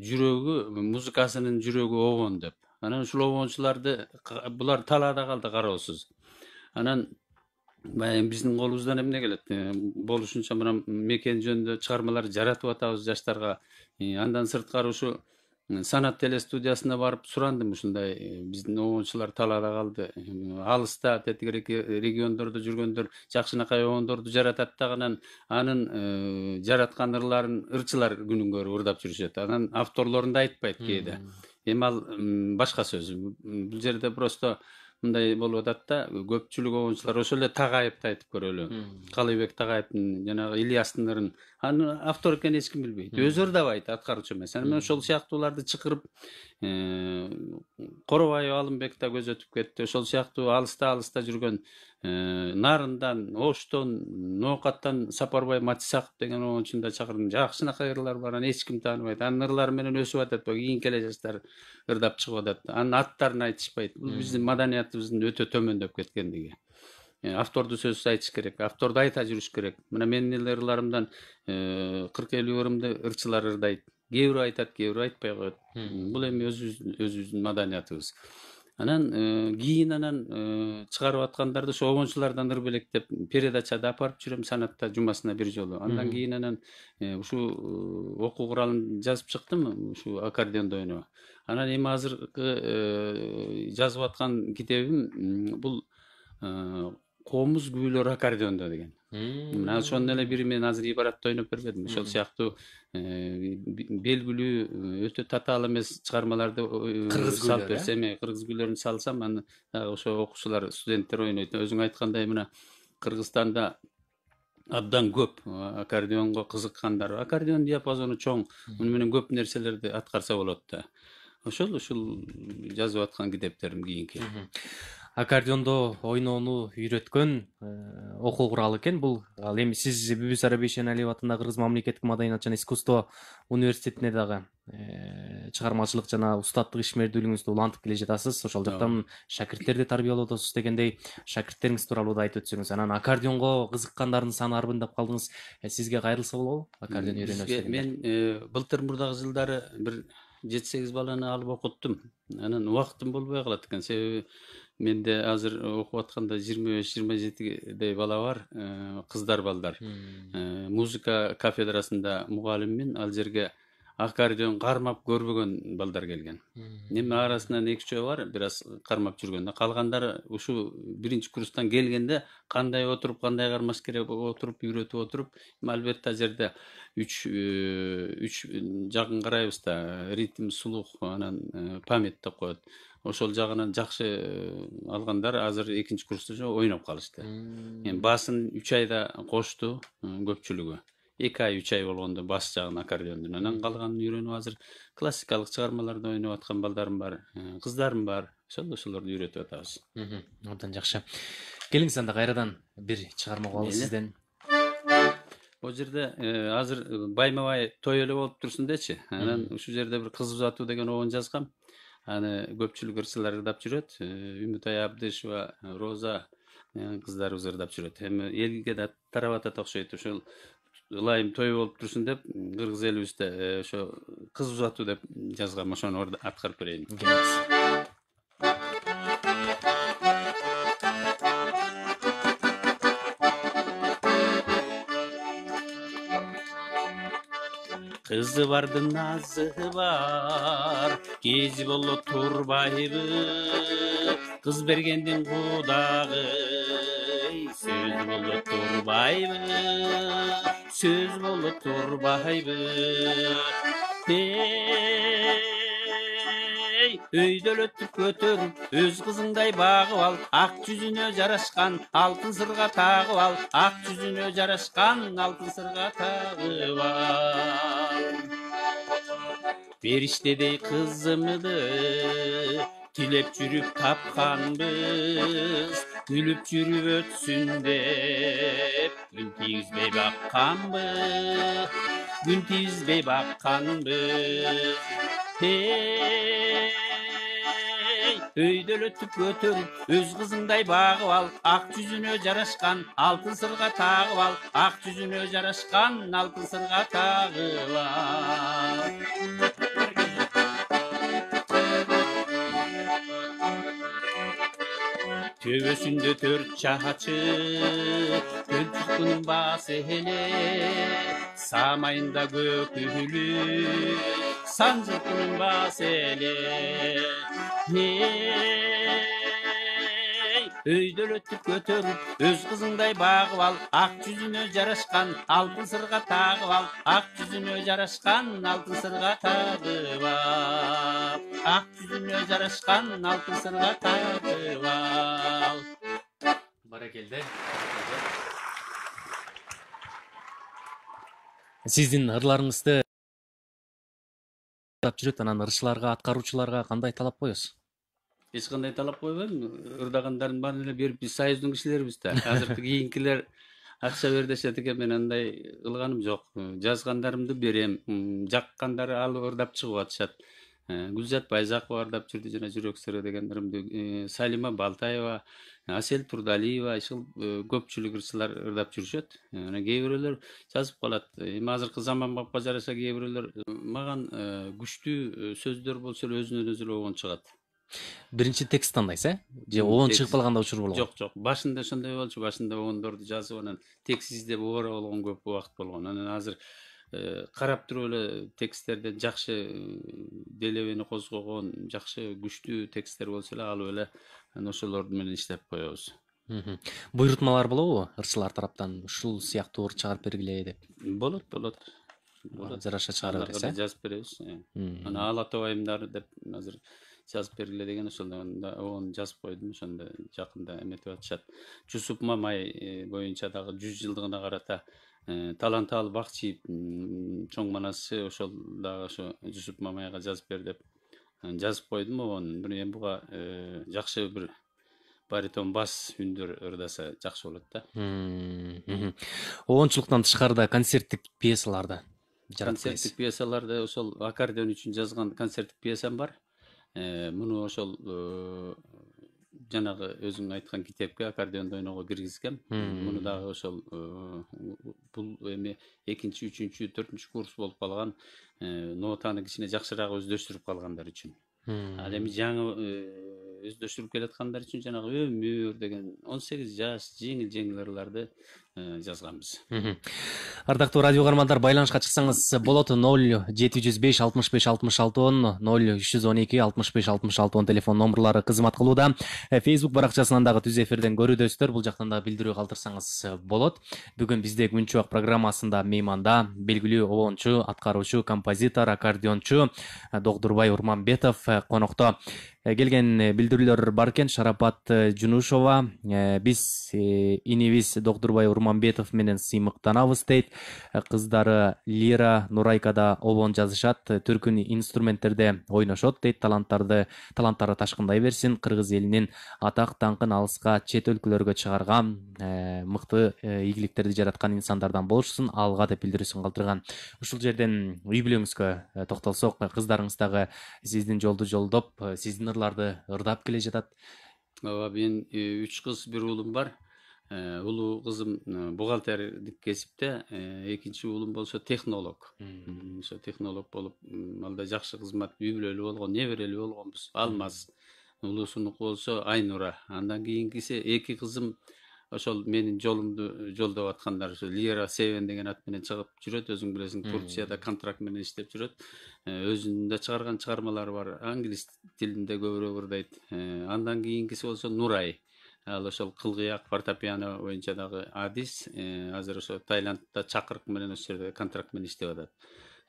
жүрөгү, музыкасынын жүрөгү обон деп. Анан ушул обончуларды булар талаада калды кароосуз. Анан баягы биздин колубуздан эмне келет? Болушунча мына мекен жөнүндө чыгармалар жаратып атабыз жаштарга. Андан сырткары ушу Санат телестудиясына барып сурандым, ушундай биздин обончулар талаада калды. Алыста тетигирээки региондордо жүргөндөр жакшынакай обондорду жаратат да, анын жараткан ырларын ырчылар күнүнгө ырдап жүрүшөт. Анан авторлорун да айтпайт кээде. Эми ал башка сөз. Бул жерде просто мындай болуп атат да, көпчүлүк обончулар ошол эле Тагайевди айтып көрөлү. Калыйбек Тагайевдин жанагы Ильястын ырын аны автор экенин эч ким билбейт. Өзү ырдабайт, аткаруучу эмес. Анан ошол сыяктууларды чакырып, Коробаев Алымбек да көз өтүп кетти. Ошол сыяктуу алыста жүргөн Нарындан, Оштон, Ноокаттан Сапарбай Матисаков деген обончуну да чакырдым. Жакшынакай ырлар бар, аны эч ким тааныбайт. Анын ырлары менен өсүп атат, кийин келе жаштар ырдап чыгып атат. Анын аттарын айтышпайт. Бул биздин маданиятыбыздын өтө төмөндөп кеткендиги. Авторду сөзсүз айтыш керек, авторду айта жүрүш керек. Мына менин эле ырларымдан 40-50 ырымды ырчылар ырдайт. Кээ бирөө айтат, кээ бирөө айтпай коет. Бул эми өзүбүздүн маданиятыбыз. Анан кийин чыгарып аткандарды ошо обончулардан ыр белектеп передачада апарып жүрөм, Санатта жумасына бир жолу. Андан кийин ушу окуу куралын жазып чыктым, ушу аккордеондо ойноп. Анан эми азыркы жазып аткан китебим бул Комуз күбөлөр аккордеондо деген. Мына ошонун эле бири мен азыр ибаратта ойноп бербедим. Ошол сыяктуу белгилүү өтө татаал эмес чыгармаларды салып берсем, кыргыз күйлөрүн салсам, аны ошо окуучулар, студенттер ойнойт. Өзүң айткандай мына Кыргызстанда абдан көп аккордеонго кызыккандар. Аккордеон диапазону чоң, муну менен көп нерселерди аткарса болот да. Ушул жазып аткан китептерим кийинки. Аккордеондо ойноону үйрөткөн окуу куралы экен бул. Ал эми сиз Бибисара Бейшеналиева атындагы Кыргыз мамлекеттик маданият жана искусство университетине дагы чыгармачылык жана устаттык ишмердүүлүгүңүздү улантып келе жатасыз. Ошол жактан шакирттерди тарбиялоодосуз дегендей, шакирттериңиз тууралуу да айтып өтсөңүз. Анан аккордеонго кызыккандардын саны арбындап калдыңыз. Сизге кайрылса болобу? Аккордеон үйрөнөсүз. Мен былтыр мурдагы жылдары бир 7-8 баланы алып окуттум. Анан убактым болбой калат экен. Себеби менде азыр окуп атканда 25-27 бала бар, кыздар балдар. Музыка кафедрасында мугалиммин, ал жерге аккордеон кармап көрбөгөн балдар келген. Эми арасынан 2-3 бар, бир аз кармап жүргөн. Калгандары ушу биринчи курстан келгенде кандай отуруп, кандай кармаш керек отуруп, үйрөтүп отуруп, албетте жерде 3 жагын карайбыз да, ритм, слух, анан память деп коет. Ошол жагынан жакшы алгандар азыр 2-курста ойноп калышты. Эми басын 3 айда кошту көпчүлүгү. 2 ай 3 ай болгондо бас жагын аккордеондун. Анан калганын үйрөнүп азыр классикалык чыгармаларды ойноп аткан балдарым бар, кыздарым бар. Ошолорду үйрөтүп атабыз. Абдан жакшы. Келиңиз анда кайрадан бир чыгарма угалы сизден. О жерде азыр байма-бай той эле болуп турсун дечи. Анан ушул жерде бир кыз узатуу деген обон жазгам. Аны көпчүлүк ырчылар ырдап жүрөт. Үмүтай Абдышева, Роза кыздарыбыз ырдап жүрөт. Эми элге да тарап атат окшойт. Ошол ылайым той болуп турсун деп кыргыз элибизде ошо кыз узатуу деп жазгам. Ошону аткарып берейин. Кызы бардын назы бар, кези боло турбайбы, кыз бергендин кудагы, сөз боло турбайбы, сөз боло турбайбы. Өйдөлөтүп көтөрүп, өз кызыңдай багып ал, ак жүзүнө жарашкан алтын сырга тагып ал, ак жүзүнө жарашкан алтын сырга тагып ал. Периштедей кызымды тилеп жүрүп тапканбыз, күлүп жүрүп өтсүн деп күн тийгизбей бакканбыз, күн тийгизбей бакканбыз. Өйдөлөтүп көтөрүп өз кызыңдай багып ал, ак жүзүнө жарашкан алтын сырга тагып ал, ак жүзүнө жарашкан алтын сырга тагып ал. Төбөсүндө 4 чачы, көлчүктүн баасы эле, самайында көк үлү, санжыртынын баасы эле. Өйдөлөтүп көтөрүп өз кызыңдай багып ал, ак жүзүнө жарашкан алтын сырга тагып ал, ак жүзүнө жарашкан алтын сырга тагып ал, ак жүзүнө жарашкан алтын сырга тагып ал. Баракелде. Сиздин ырларыңызды жүрөт, анан ырчыларга, аткаруучуларга кандай талап коесуз? Эч кандай талап койбойм. Ырдагандардын баарын эле берип, биз союздун кишилерибиз да. Азыркы кийинкилер акча бер дешет экен, мен андай кылганым жок. Жазгандарымды берем, жаккандары алып ырдап чыгып атышат. Гүлзат Байзакова ырдап жүрдү, жана жүрөк сыры дегендеримди. Салима Балтаева, Асель Турдалиева, ишил көпчүлүк ырчылар ырдап жүрүшөт. Анан кээ бирөөлөр жазып калат. Эми азыркы заманбапка жараша кээ бирөөлөр маган күчтүү сөздөр болсо эле өзүнөн өзү обон чыгат. Биринчи текст тандайсыз, же обон чыгып калганда учур болгон? Жок. Башында ошондой болчу. Башында обондорду жазып, анан текст издеп обора болгон көп убакыт болгон. Анан азыр карап туруп эле тексттерден жакшы делебени козгогон, жакшы күчтүү тексттер болсо эле алып эле ошолор менен иштеп коебуз. Буйрутмалар болобу ырчылар тараптан, ушул сыяктуу ырч чыгарып бергиле деп? Болот. Жараша чыгара бересиз, жазып беребиз. Анан Ала Тобайымдар деп азыр жазып бергиле деген, ошондо оны жазып койдум. Ошондо жакында эметип атышат. Жусуп Мамай боюнча дагы 100 жылдыгына карата Таланталы Бакчиев чоң манасчы, ошол дагы ошо Жусуп Мамайга жазып бер деп жазып койдум. Ону эми буга жакшы бир баритон бас үндөр ырдаса жакшы болот да. Обончулуктан тышкарыда концерттик пьесаларды жаратып койсуз? Концерттик пьесаларды ошол аккордеон үчүн жазган концерттик пьесам бар. Муну ошол жанагы өзүң айткан китепке аккордеондо ойноого киргизгем. Муну дагы ошол бул эми 2-, 3-, 4-чү курс болуп калган, нотаны кичине жакшыраак өздөштүрүп калгандар үчүн. Ал эми жаңы өздөштүрүп келаткандар үчүн жанагы өмүр деген 18 жаш жеңил ырларды жазганбыз. Ардактуу радио каармандар, байланышка чыксаңыз болот. 0705 65 66 10, 0312 65 66 10 телефон номерлары кызмат кылууда. Facebook баракчасынан дагы түз эфирден көрүүдөсүздөр. Бул жактан да билдирүү калтырсаңыз болот. Бүгүн бизде Күн чубак программасында мейманда белгилүү обончу, аткаруучу, композитор, аккордеончу Догдурбай Урманбетов конокто. Келген билдирүүлөр бар экен. Шарапат Жунушова, биз инибиз Догдурбай Урманбетов менен сыймыктанабыз дейт. Кыздары Лира, Нурайка да обон жазышат, түркүн инструменттерде ойношот дейт. Таланттары ташкындай берсин. Кыргыз элинин атак даңкын алыска, чет өлкөлөргө чыгарган, мыкты ийгиликтерди жараткан инсандардан болушсун, алга деп билдирүүсүн калтырган. Ушул жерден үй бүлөңүзгө токтолсок, кыздарыңыз дагы сиздин жолду жолдоп, сиздин ырларды ырдап келе жатат. Ооба, мен 3 кыз, 1 уулум бар. Улуу кызым бухгалтердик кесипте, экинчи уулум болсо технолог. Ошо технолог болуп, алда жакшы кызмат, үй бүлөлүү болгон, неберелүү болгонбуз. Алмаз. Улуусунуку болсо Айнура. Андан кийинкиси 2 кызым ошол менин жолумду жолдоп аткандар. Ошо Лира Севен деген ат менен чыгып жүрөт. Өзүң билесиң, Турцияда контракт менен иштеп жүрөт. Өзүнүн да чыгарган чыгармалары бар. Англис тилинде көбүрөөк ырдайт. Андан кийинкиси болсо Нурай. Ал ошол кылгыяк, фортепиано боюнча дагы адис. Азыр ошо Таиландда чакырык менен ошол жерде контракт менен иштеп атат.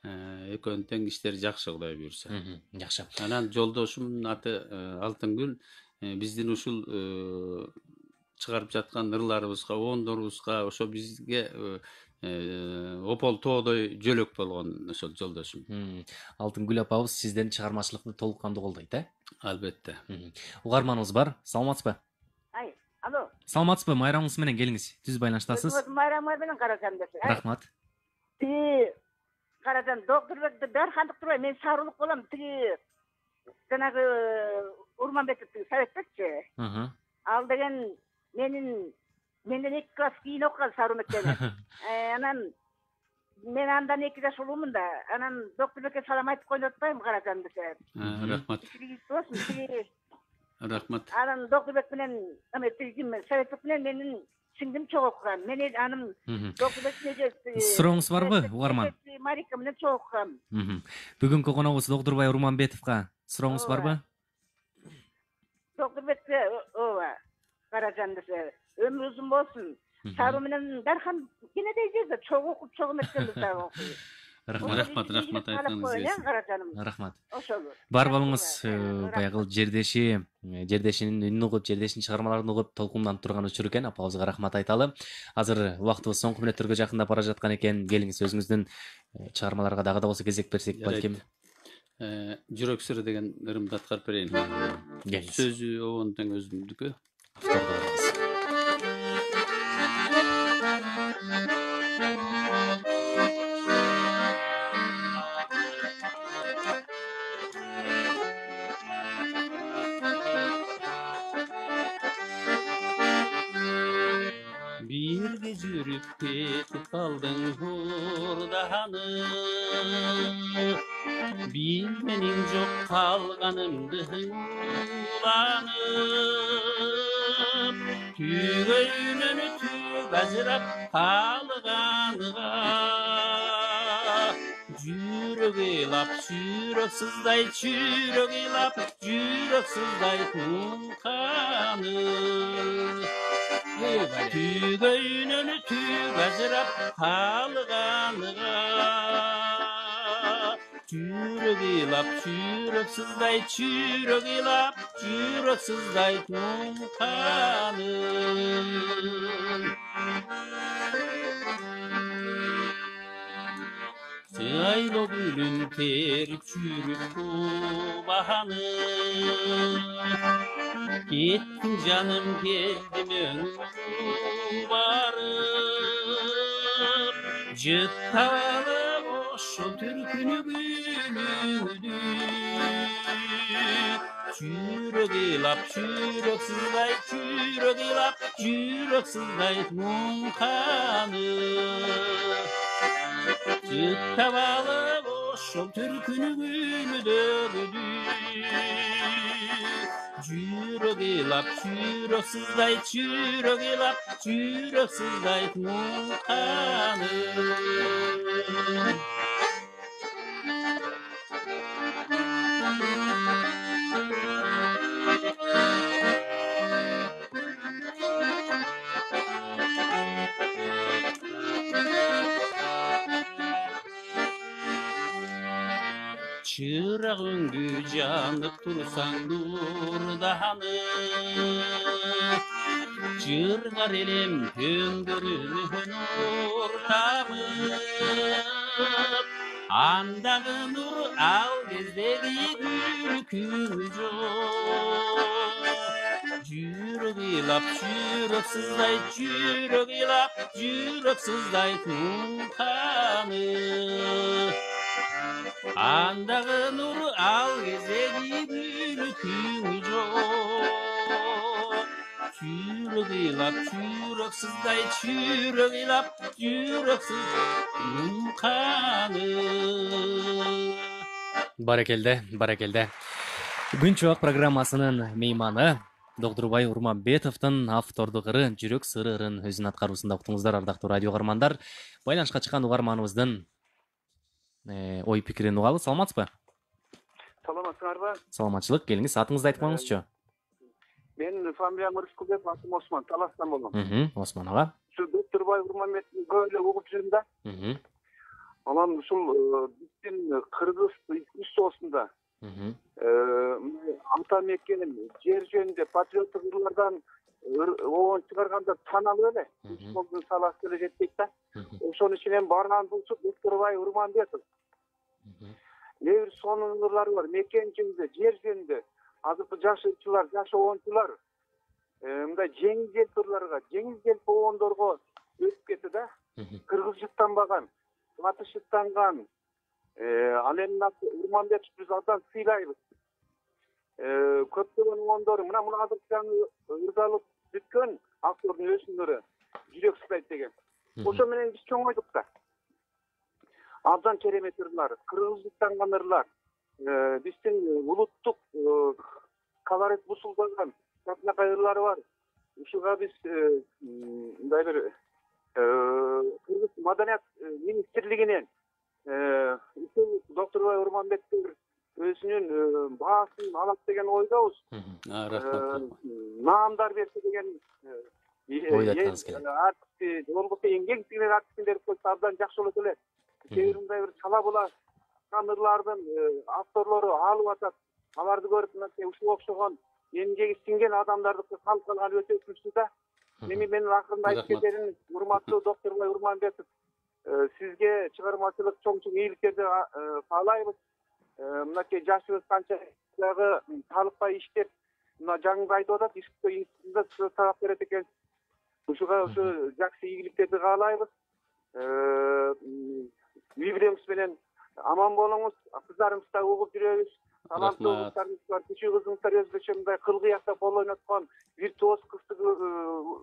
Экөөнүн тең иштери жакшы, Кудай буйрса. Жакшы. Анан жолдошумдун аты Алтынгүл. Биздин ушул чыгарып жаткан ырларыбызга, обондорубузга, ошо бизге опол тоодой жөлөк болгон ошол жолдошум. Алтынгүл апабыз сизден чыгармачылыкты толук кандуу колдойт, Албетте. Угарманыбыз бар. Саламатсызбы? Алло. Саламатсызбы? Майрамыңыз менен келиңиз. Түз байланыштасыз. Майрамыңар менен карасам десе. Рахмат. Тиги карасам Доктурбекти дархандык турбай, мен сарылык болом. Тиги жанагы Урманбетов Советбекчи. Ал деген менден 2 класс кийин окуган Саруу мектебинен. Анан мен андан 2 жаш улуумун да. Анан Доктурбекке салам айтып коюйт атпаймынбы карасам десе. Рахмат. Рахмат. Анан Доктурбек менен Советбек менен менин сиңдим чогуу окуган. Мен анын Доктурбек сурооңуз барбы, угарман? Марика менен чогуу окугам. Бүгүнкү коногубуз Доктурбай Урманбетовго сурооңуз барбы? Доктурбекке ооба карасам десе, өмүр узун болсун. Саруу менен Дархан кенедей жерде чогуу окуп, чогуу мектепте окуйт. Рахмат айтканыңыз. Рахмат. Ошол. Бар болуңуз, баягы жердешинин үнүн угуп, жердешинин чыгармаларын угуп толкунданып турган учур экен. Апабызга рахмат айталы. Азыр убактыбыз соңку мүнөттөргө жакындап бара жаткан экен. Келиңиз, өзүңүздүн чыгармаларга дагы да болсо кезек берсек балким. Жүрөк сыры деген ырымды аткарып берейин. Сөзү обон тең өзүмдүкү. Birge жүрүп кетип калдың урданы, билменин жок калганымды уланып, түйгөйүнөн түк ажырап калганыга, жүрөк ыйлап, жүрөк сыздайт, жүрөк ыйлап, жүрөк сыздайт мунканы. Tügöynün tüg azırap kalğanıga, Çürök ılap, çürök sыздayt, çürök ılap, çürök sыздayt mунканы. Сыйло гүлүн терип жүрүп кубаны, Кеттің жаным, келдім өңір барып, жыттап алып ошо түркүнү күнүңдү. Жүрөк ыйлап, жүрөк сыздайт, жүрөк ыйлап, жүрөк сыздайт мунканы. Жыттап алып ошо түркүнү күнүдөгүдү. Жүрөк ыйлап, жүрөк сыздайт, жүрөк ыйлап, жүрөк сыздайт мунканы. Çırak öngü janıp tursaң nurdanып, Жыргар элем төңдөрүнөн ууртанып, Андагы нур ал кездеги күлкү жок. Жүрөк ыйлап, жүрөк сыздайт, жүрөк ыйлап, жүрөк сыздайт мунканы. Андагы нур ал кездеги күлкү жок. Жүрөк ыйлап, жүрөк сыздайт, жүрөк ыйлап, жүрөк сыздайт мунканы. Баракелде, баракелде. Күн чубак программасынын мейманы Доктурбай Урманбетовдун автордук ыры Жүрөк сыры ырын өзүнүн аткаруусунда уктуңуздар, ардактуу радио угармандар. Байланышка чыккан угарманыбыздын ой пикирин угалы. Саламатсызбы? Саламатсыңарбы? Саламатчылык. Келиңиз, атыңызды айтып коюңузчу. Мен фамилиям Рыскулбек, атым Осман, Таластан болом. Осман ага. Доктурбай Урманбетовдун көп эле угуп жүрүм да. Анан ушул биздин кыргыз искусствосунда ата мекенин жер жөнүндө патриоттук ырлардан обон чыгарганда тааналы эле. Футболдун саласы деле жетпейт да. Ошонун ичинен барган булчу Доктурбай Урманбетов. Небир сонун ырлары бар, мекен жөнүндө, жер жөнүндө. Азыркы жаш ырчылар, жаш обончулар мындай жеңил желпи ырларга, жеңил желпи обондорго өтүп кетти да. Кыргыз жыттанбаган, батыш жыттанган ал эми Урманбетов биз абдан сыйлайбыз. Көптөгөн обондор мына азыр жаңы ырдалып бүткөн актердин өзүнөрү жүрөк сыйлайт деген. Ошо менен биз чоңойдук да. Абдан керемет ырлар, кыргыз жыттанган ырлар. Биздин улуттук колорит бусулдаган татынакай ырлары бар. Ушуга биз мындай бир Кыргыз маданият министрлигинен доктор Урманбетов өзүнүн баасын алат деген ойдобуз. Рахмат. Наамдар берсе деген артисти, болбосо эмгек сиңирген артистин берип койсо абдан жакшы болот эле. Себеби мындай бир чала була ырлардын авторлору алып атат. Аларды көрүп мына ушуга окшогон эмгеги сиңген адамдарды халкка алып өтө күчтүү да. Менин акырында айтып кетерим, урматтуу доктор Урманбетов, сизге чыгармачылык чоң ийгиликтерди каалайбыз. Мынакей жашыбыз канча дагы талыкпай иштеп, мына жаңы айтып атат, искусство институтунда сабак берет экен. Ушуга ушу жакшы ийгиликтерди каалайбыз. Үй-бүлөңүз менен аман болуңуз, кыздарыбызды да угуп жүрөбүз. Таланттуу кыздарыбыз бар, кичүү кызыңыздар өзгөчө мындай кылгыякта кол ойноткон виртуоз кызды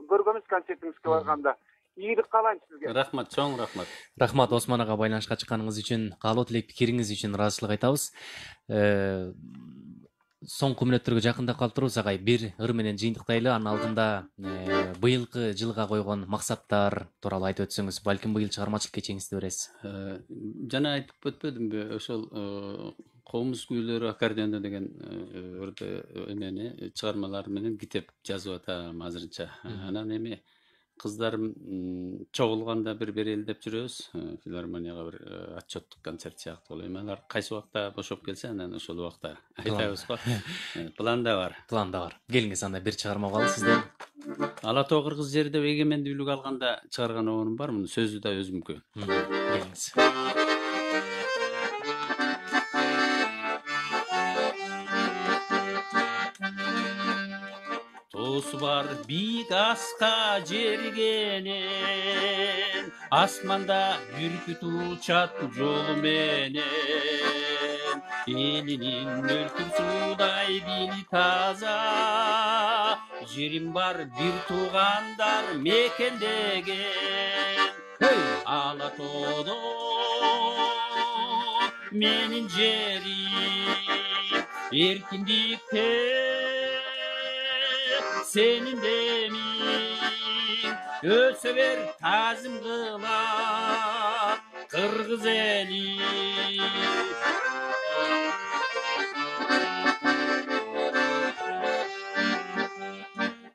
көргөнбүз концертиңизге барганда. Ийгилик каалайм сизге. Рахмат, чоң рахмат. Рахмат Осман ага байланышка чыкканыңыз үчүн, каалоо тилек пикириңиз үчүн ыраазычылык айтабыз. Соңку мүнөттөргө жакындап калыптырбыз агай. Бир ыр менен жыйынтыктайлы, анын алдында быйылкы жылга койгон максаттар тууралуу айтып өтсөңүз, балким быйыл чыгармачылык кечеңизди бересиз. Жана айтып өтпөдүмбү, ошол комуз күүлөрү аккордеондо деген эмени чыгармалар менен китеп жазып атам азырынча. Анан эми кыздарым чогулганда бир берели деп жүрөбүз. Филармонияга бир отчеттук концерт сыяктуу болот. Алар кайсы убакта бошоп келсе, анан ошол убакта айтабыз го. Планда бар. Келиңиз анда бир чыгарма калды сизден. Ала Тоо кыргыз жери деп эгемендүүлүк алганда чыгарган обонум бар, мунун сөзү да өзүмдүкү. Келиңиз. Тоосу бар бийик аска жергенен, асманда бүркүт учат жолу менен. Элинин мөлкүр суудай били таза, жерим бар бир туугандар мекендеген. Ала Тоодо менин жерим, эркиндикте senin demin öse ver tazim kıla Kırgız eli.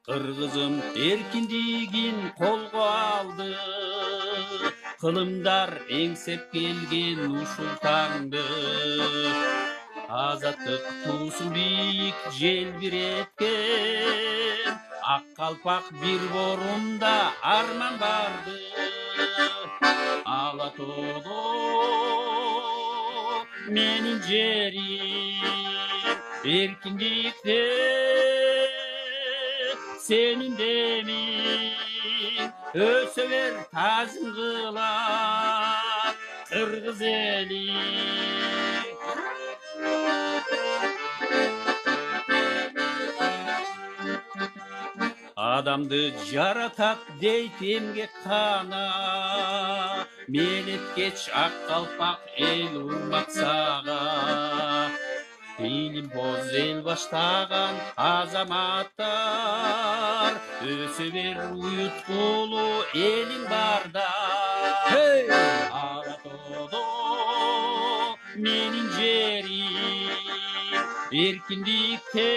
Kırgızım erkindigin kolga aldı, kılımdar engsep gelgen uşul tаңды. Azatlık tuğsun biyik jelbiretken, ak kalpak bir borunda arman vardı. Ala Toodо menin jerim, erkindikte senin demin, öse ver tazim kıla Kırgız eli. Adamdı jaratat deyt emgek kana, menetkеч ak kalpak el urmak sağa. Ilim boz el baştagan azamatlar, öse ver uyutkulu elin barda. Ala Toodо menin jerim, erkindikte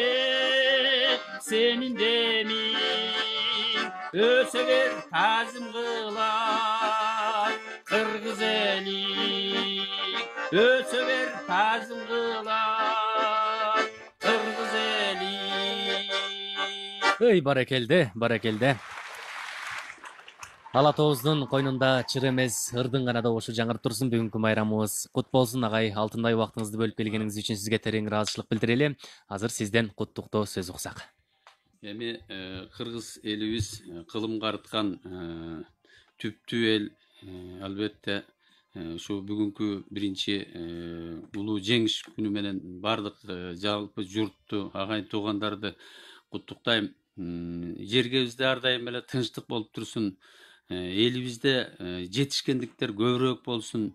senin demin, öse ver tazim kıla Kırgız eli, öse ver tazim kıla Kırgız eli. Баракелде. Ала Тообуздун койнунда чыр эмес ырдын гана добушу жаңырып турсун. Бүгүнкү майрамыбыз кут болсун агай. Алтындай убактыңызды бөлүп келгениңиз үчүн сизге терең ыраазычылык билдирели. Азыр сизден куттуктоо сөз уксак. Эми кыргыз элибиз кылымга арткан түптүү эл албетте ушу бүгүнкү биринчи улуу жеңиш күнү менен баардык жалпы журтту, агайын туугандарды куттуктайм. Жергебизде ар дайым эле тынчтык болуп турсун. Элибизде жетишкендиктер көбүрөөк болсун.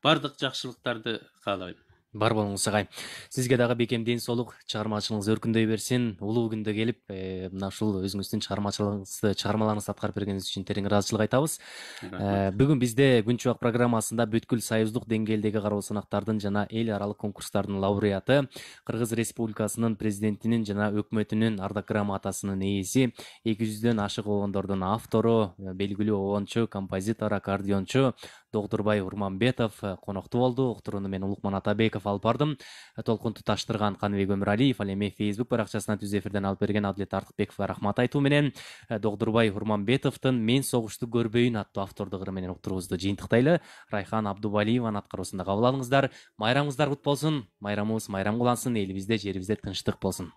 Баардык жакшылыктарды каалайм. Бар болуңуз агай. Сизге дагы бекем ден соолук, чыгармачылыгыңыз өркүндөй берсин. Улуу күндө келип, мына ушул өзүңүздүн чыгармаларыңызды аткарып бергениңиз үчүн терең ыраазычылык айтабыз. Бүгүн бизде Күн чубак программасында бүткүл союздук деңгээлдеги кароо сынактардын жана эл аралык конкурстардын лауреаты, Кыргыз Республикасынын президентинин жана өкмөтүнүн ардак грамотасынын ээси, 200дөн ашык обондордун автору, белгилүү обончу, композитор, аккордеончу Догдурбай Урманбетов конокту болду. Уктурууну мен Улукман Атабеков алып бардым. Толкунду таштырган Каныбек Өмүралиев, ал эми Facebook баракчасынан түз эфирден алып берген Адилет Артыкбековго рахмат айтуу менен Догдурбай Урманбетовдун Мен согушту көрбөйүн аттуу автордугу менен уктуруубузду жыйынтыктайлы. Райхан Абдубалиеванын аткаруусунда кабыл алыңыздар. Майрамыңыздар кут болсун. Майрамыбыз майрам кылансын. Элибизде, жерибизде тынчтык болсун.